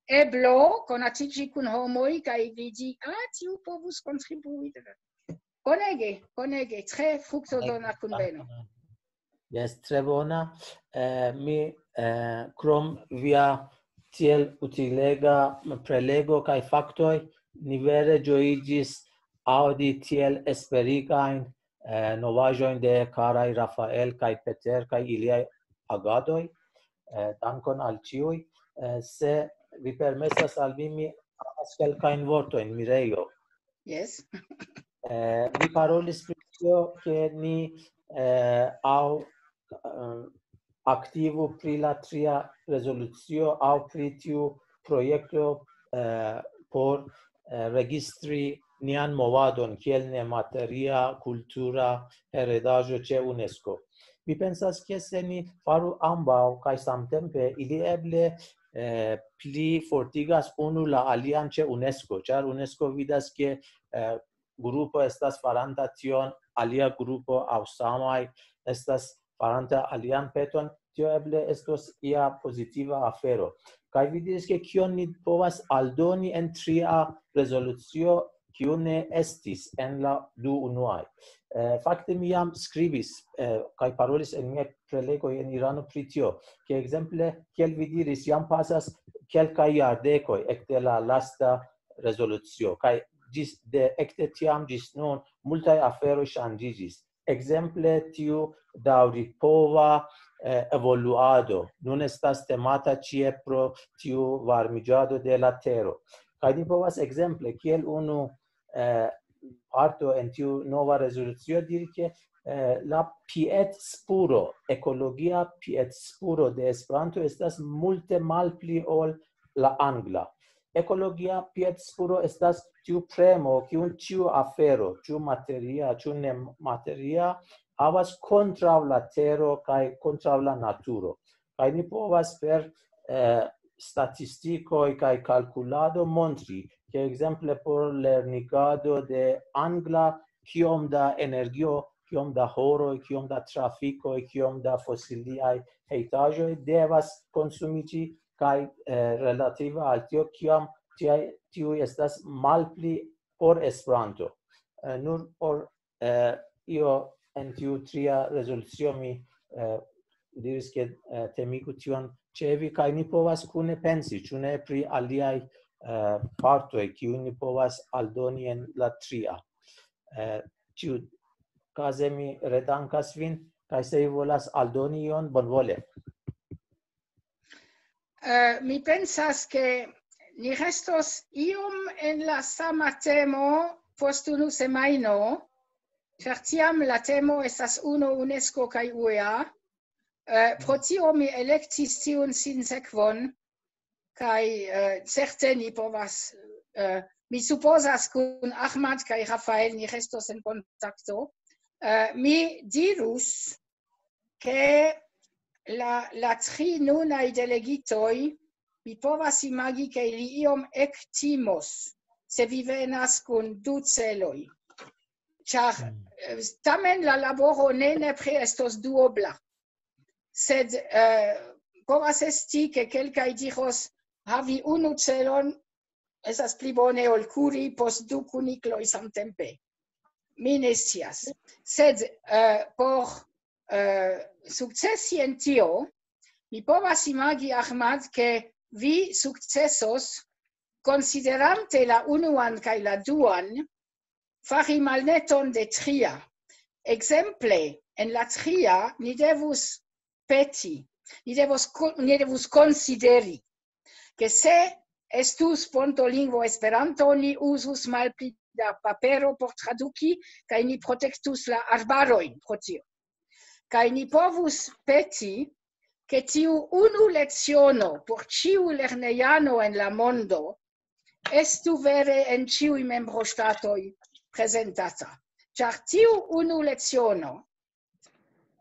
eblo konatiĝi kun homoj kaj vidi, ah, tiu povus kontribui. Bonege, bonege, tre fruktodona kunveno. Jes, tre bona. Eh, mi, eh, krom via tiel utilega prelego kaj faktoj, ni vere ĝojiĝis aŭdi tiel esperigajn eh, novaĵojn de karaj Rafael kaj Peter kaj iliaj agadoj. Eh, dankon al ĉiuj. Eh, se vi permesas al mi, mi havas kelkajn vortojn, Mirejo. Yes. Eh, vi parolis pri tio, ke ni eh, aŭ eh, aktivu pri la tria rezolucio aŭ pri tiu projekto eh, por eh, registri nian movadon kiel nemateria kultura heredaĵo ĉe UNESCO. Mi pensas, ke se ni faru ambaŭ kaj samtempe, ili eble eh, pli fortigas unu la alian ĉe UNESCO, ĉar UNESCO vidas, ke eh, grupo estas faranta tion, alia grupo aŭ samaj estas faranta alian peton, tio eble estos ia pozitiva afero. Kaj vi diris, ke kion ni povas aldoni en tria rezolucio, kiu ne estis en la du unuaj. Eh, fakte mi jam skribis eh, kaj parolis en miaj prelegoj en Irano pri tio, ke ekzemple, kiel vi diris, jam pasas kelkaj jardekoj ekde la lasta rezolucio, kaj ĝis de ekde tiam ĝis nun multaj aferoj ŝanĝiĝis. Ekzemple tiu daŭripova eh, evoluado nun estas temata ĉie pro tiu varmiĝado de la tero. Kaj ni povas ekzemple kiel unu eh, parto en tiu nova rezolucio diri, ke eh, la piedspuro, ekologia piedspuro de Esperanto estas multe malpli ol la angla. Ekologia piedspuro estas tiu premo, kiun ĉiu afero, ĉu materia, ĉu nemateria, havas kontraŭ la tero kaj kontraŭ la naturo. Kaj ni povas per eh, statistikoj kaj kalkulado montri, ke ekzemple por lernigado de angla, kiom da energio, kiom da horoj, kiom da trafikoj, kiom da fosiliaj hejtaĵoj devas konsumiĝi, kaj eh, relative al tio, kiom tiaj, tiuj estas malpli por Esperanto. Eh, nur por, eh, io en tiu tria rezolucio mi, eh, diris, ke, eh, temigu tion ĉe vi, kaj ni povas kune pensi, ĉu ne pri aliaj, eh, partoj, kiujn ni povas aldoni en la tria. Eh, ĉiukaze mi redankas vin, kaj se vi volas aldoni ion, bonvole. Eh, mi pensas, ke ni restos iom en la sama temo post unu semajno, ĉar tiam la temo estas unu UNESCO kaj U E A. Eh, pro tio mi elektis tiun sinsekvon, kaj, eh, certe ni povas, eh, mi supozas, kun Ahmad kaj Rafael ni restos en kontakto. Eh, mi dirus, ke la, la tri nunaj delegitoj, mi povas imagi, ke ili iom ektimos, se vi venas kun du celoj. Ĉar, eh, tamen la laboro ne nepre estos duobla. Sed, eh, povas esti, ke kelkaj diros, havi unu celon estas pli bone ol kuri post du kunikloj samtempe. Mi ne scias. Sed, eh, por, eh, sukcesi en tio, mi povas imagi, Ahmad, ke vi sukcesos, konsiderante la unuan kaj la duan, fari malneton de tria. Ekzemple, en la tria ni devus peti, ni devus ko-, ni devus konsideri, ke se estus ponto lingvo Esperanto, ni uzus malpli da papero por traduki, kaj ni protektus la arbarojn pro tio. Kaj ni povus peti, ke tiu unu leciono por ĉiu lernejano en la mondo estu vere en ĉiuj membroŝtatoj prezentata. Ĉar tiu unu leciono,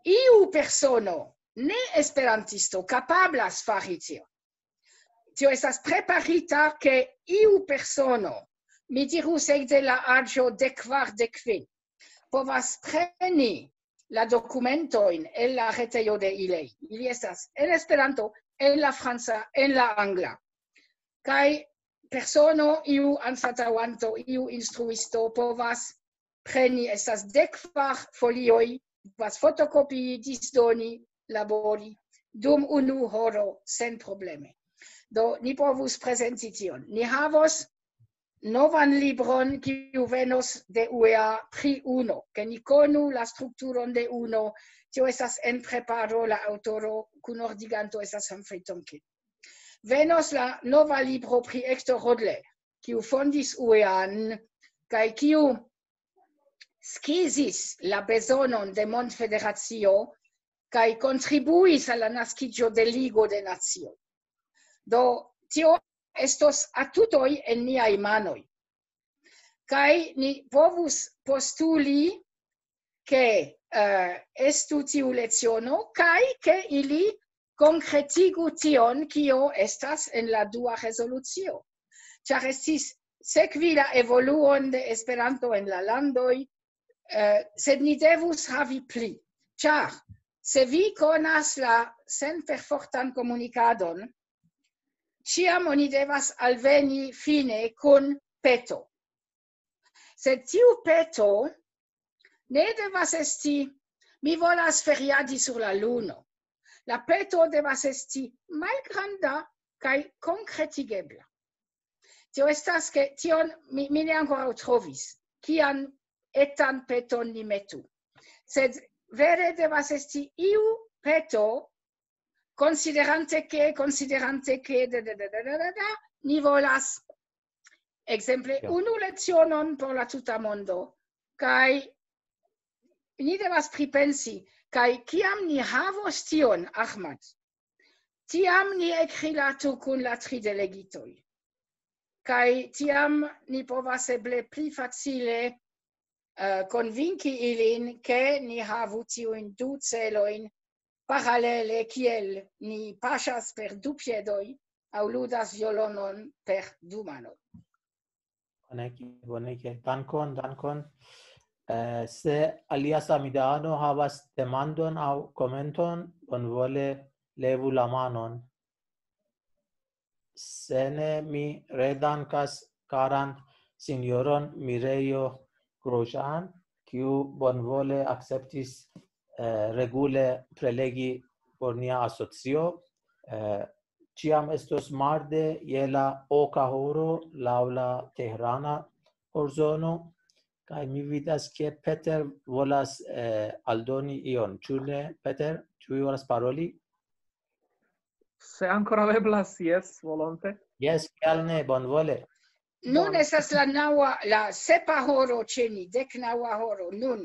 iu persono, ne esperantisto, kapablas fari tio. Tio estas preparita, ke iu persono, mi dirus ekde la aĝo de kvar, de kvin, povas preni la dokumentojn el la retejo de ilej. Ili estas en Esperanto, en la franca, en la angla. Kaj persono, iu anstataŭanto, iu instruisto povas preni, estas dek kvar folioj, povas fotokopii, disdoni, labori dum unu horo senprobleme. Do, ni povus prezenti tion. Ni havos novan libron, kiu venos de U E A pri unu, ke ni konu la strukturon de unu. Tio estas en preparo, la aŭtoro, kunordiganto estas Humphrey Tonkin. Venos la nova libro pri Hector Rodler, kiu fondis U E A-n, kaj kiu skizis la bezonon de mondfederacio, kaj kontribuis al la naskiĝo de Ligo de Nacioj. Do, tio estos atutoj en niaj manoj. Kaj ni povus postuli, ke, eh, estu tiu leciono, kaj ke ili konkretigu tion, kio estas en la dua rezolucio. Ĉar estis sekvi la evoluon de Esperanto en la landoj, eh, sed ni devus havi pli. Ĉar se vi konas la senperfortan komunikadon, ĉiam oni devas alveni fine kun peto. Sed tiu peto ne devas esti, "Mi volas feriadi sur la luno." La peto devas esti malgranda kaj konkretigebla. Tio estas, ke tion mi, mi ne ankoraŭ trovis, kian etan peton ni metu. Sed vere devas esti iu peto, konsiderante ke, konsiderante ke, da, da, da, da, da, da, da, ni volas, ekzemple, Ja. unu lecionon por la tuta mondo, kaj ni devas pripensi, kaj kiam ni havos tion, Ahmad, tiam ni ekrilatu kun la tri delegitoj. Kaj tiam ni povas eble pli facile, eh, konvinki ilin, ke ni havu tiujn du celojn paralele, kiel ni paŝas per du piedoj aŭ ludas violonon per du manoj. Bonege, bonege. Dankon, dankon. Eh, se alia samideano havas demandon aŭ komenton, bonvole levu la manon. Se ne, mi redankas karan sinjoron Mirejo Grožan, kiu bonvole akceptis, eh, regule prelegi por nia asocio. Eh, ĉiam estos marde je la oka horo laŭ la tehrana horzono, kaj mi vidas, ke Peter volas, eh, aldoni ion. Ĉu ne, Peter? Ĉu vi volas paroli? Se ankoraŭ eblas, jes, volonte. Jes, kial ne, bonvole. Nun estas la naŭa, la sepa horo ĉe ni, dek naŭa horo, nun.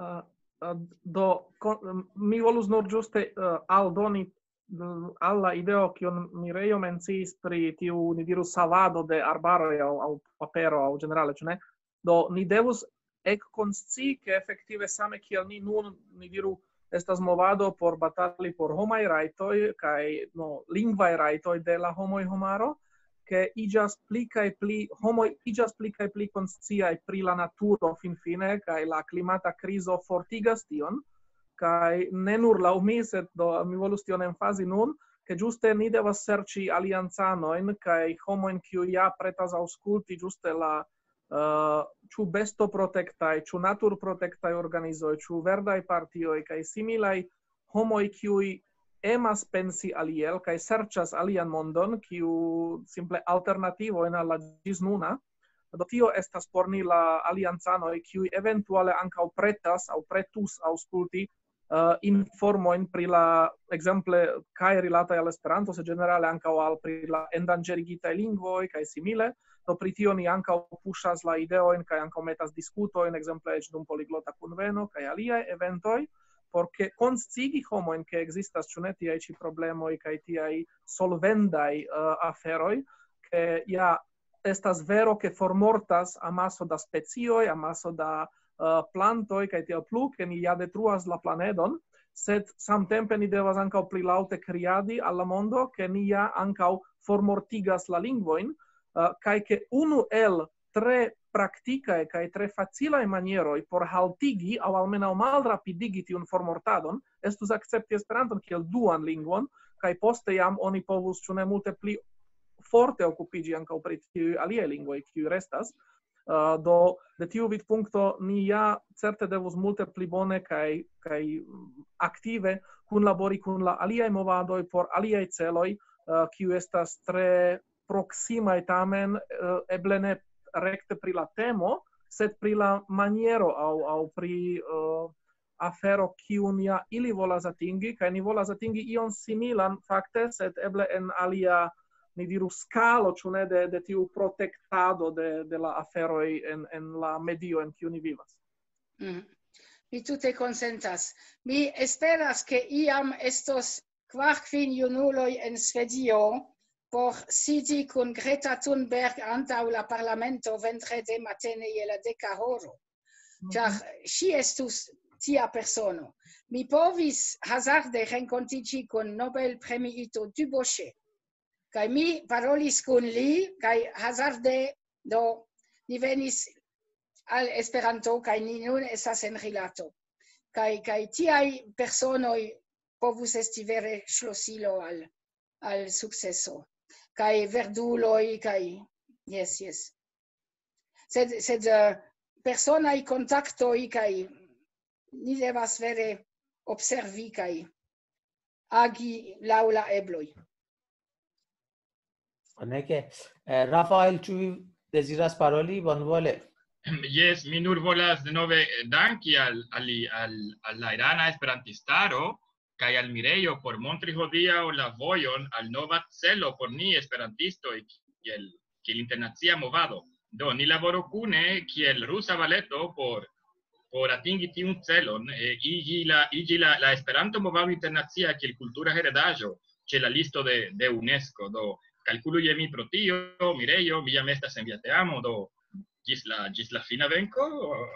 Uh, uh, do, kon, mi volus nur ĝuste uh, aldoni uh, al la ideo, kion Mirejo menciis pri tiu, ni diru, savado de arbaroj aŭ, aŭ papero, aŭ ĝenerale, ĉu ne? Do, ni devus ekkonscii, ke efektive same kiel ni nun, ni diru, estas movado por batali por homaj rajtoj kaj, no, lingvaj rajtoj de la homoj, homaro, ke iĝas pli kaj pli, homoj iĝas pli kaj pli konsciaj pri la naturo finfine, kaj la klimata krizo fortigas tion, kaj ne nur laŭ mi, sed do, mi volus tion emfazi nun, ke ĝuste ni devas serĉi aliancanojn kaj homojn, kiuj ja pretas aŭskulti ĝuste la, eh, ĉu bestoprotektaj, ĉu naturprotektaj organizoj, ĉu verdaj partioj kaj similaj homoj, kiuj emas pensi aliel kaj serĉas alian mondon, kiu simple alternativo en al la ĝis nuna. Do tio estas por ni la aliancanoj, kiuj eventuale ankaŭ pretas aŭ pretus aŭskulti, eh, informojn pri la, ekzemple, kaj rilataj al Esperanto, sed ĝenerale ankaŭ al pri la endanĝerigitaj lingvoj kaj simile. Do pri tio ni ankaŭ puŝas la ideojn kaj ankaŭ metas diskutojn, ekzemple eĉ dum poliglota kunveno kaj aliaj eventoj, por ke konscigi homojn, ke ekzistas, ĉu ne, tiaj ĉi problemoj kaj tiaj solvendaj, eh, aferoj, ke ja estas vero, ke formortas amaso da specioj, amaso da, eh, plantoj kaj tiel plu, ke ni ja detruas la planedon, sed samtempe ni devas ankaŭ pli laŭte kriadi al la mondo, ke ni ja ankaŭ formortigas la lingvojn, eh, kaj ke unu el tre praktikaj kaj tre facilaj manieroj por haltigi aŭ almenaŭ malrapidigi tiun formortadon estus akcepti Esperanton kiel duan lingvon, kaj poste jam oni povus, ĉu ne, multe pli forte okupiĝi ankaŭ pri tiuj aliaj lingvoj, kiuj restas. Eh, do, de tiu vidpunkto ni ja certe devus multe pli bone kaj, kaj aktive kunlabori kun la aliaj movadoj por aliaj celoj, eh, kiuj estas tre proksimaj tamen, eh, eble ne rekte pri la temo, sed pri la maniero aŭ, aŭ pri, eh, afero, kiun ja ili volas atingi, kaj ni volas atingi ion similan fakte, sed eble en alia, ni diru, skalo, ĉu ne, de, de tiu protektado de, de la aferoj en, en la medio, en kiu ni vivas. Mm. Mi tute konsentas. Mi esperas, ke iam estos kvar, kvin junuloj en Svedio por sidi kun Greta Thunberg antaŭ la parlamento vendrede matene je la deka horo. Ĉar ŝi estus tia persono. Mi povis hazarde renkontiĝi kun Nobel-premiito Dubochet. Kaj mi parolis kun li, kaj hazarde, do, ni venis al Esperanto, kaj ni nun estas en rilato. Kaj, kaj tiaj personoj povus esti vere ŝlosilo al, al sukceso. Kaj verduloj, kaj, jes, jes. Sed, sed, eh, personaj kontaktoj, kaj ni devas vere observi kaj agi laŭ la ebloj. Bonege. Eh, Rafael, ĉu vi deziras paroli? Bonvole. Jes, mi nur volas denove danki al, al, al, al la irana esperantistaro kaj al Mirejo por montri hodiaŭ la vojon al nova celo por ni esperantistoj kiel, kiel internacia movado. Do, ni laboru kune kiel rusa valeto por, por atingi tiun celon, eh, iĝi la, iĝi la, la Esperanto-movado internacia kiel kultura heredaĵo ĉe la listo de, de UNESCO. Do, kalkulu je mi pro tio, Mirejo, mi jam estas en via teamo, do, ĝis la, ĝis la fina venko,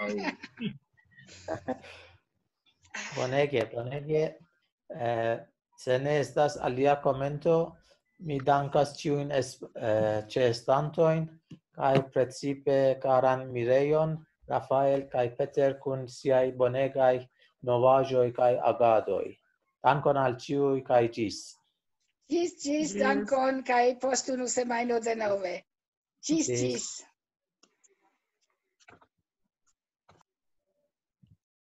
aŭ? Bonege, bonege. Eh, se ne estas alia komento, mi dankas ĉiujn es-, eh, ĉeestantojn, kaj precipe karan Mirejon, Rafael kaj Peter kun siaj bonegaj novaĵoj kaj agadoj. Dankon al ĉiuj kaj ĝis. Ĝis, ĝis, dankon, kaj post unu semajno denove. Ĝis, ĝis.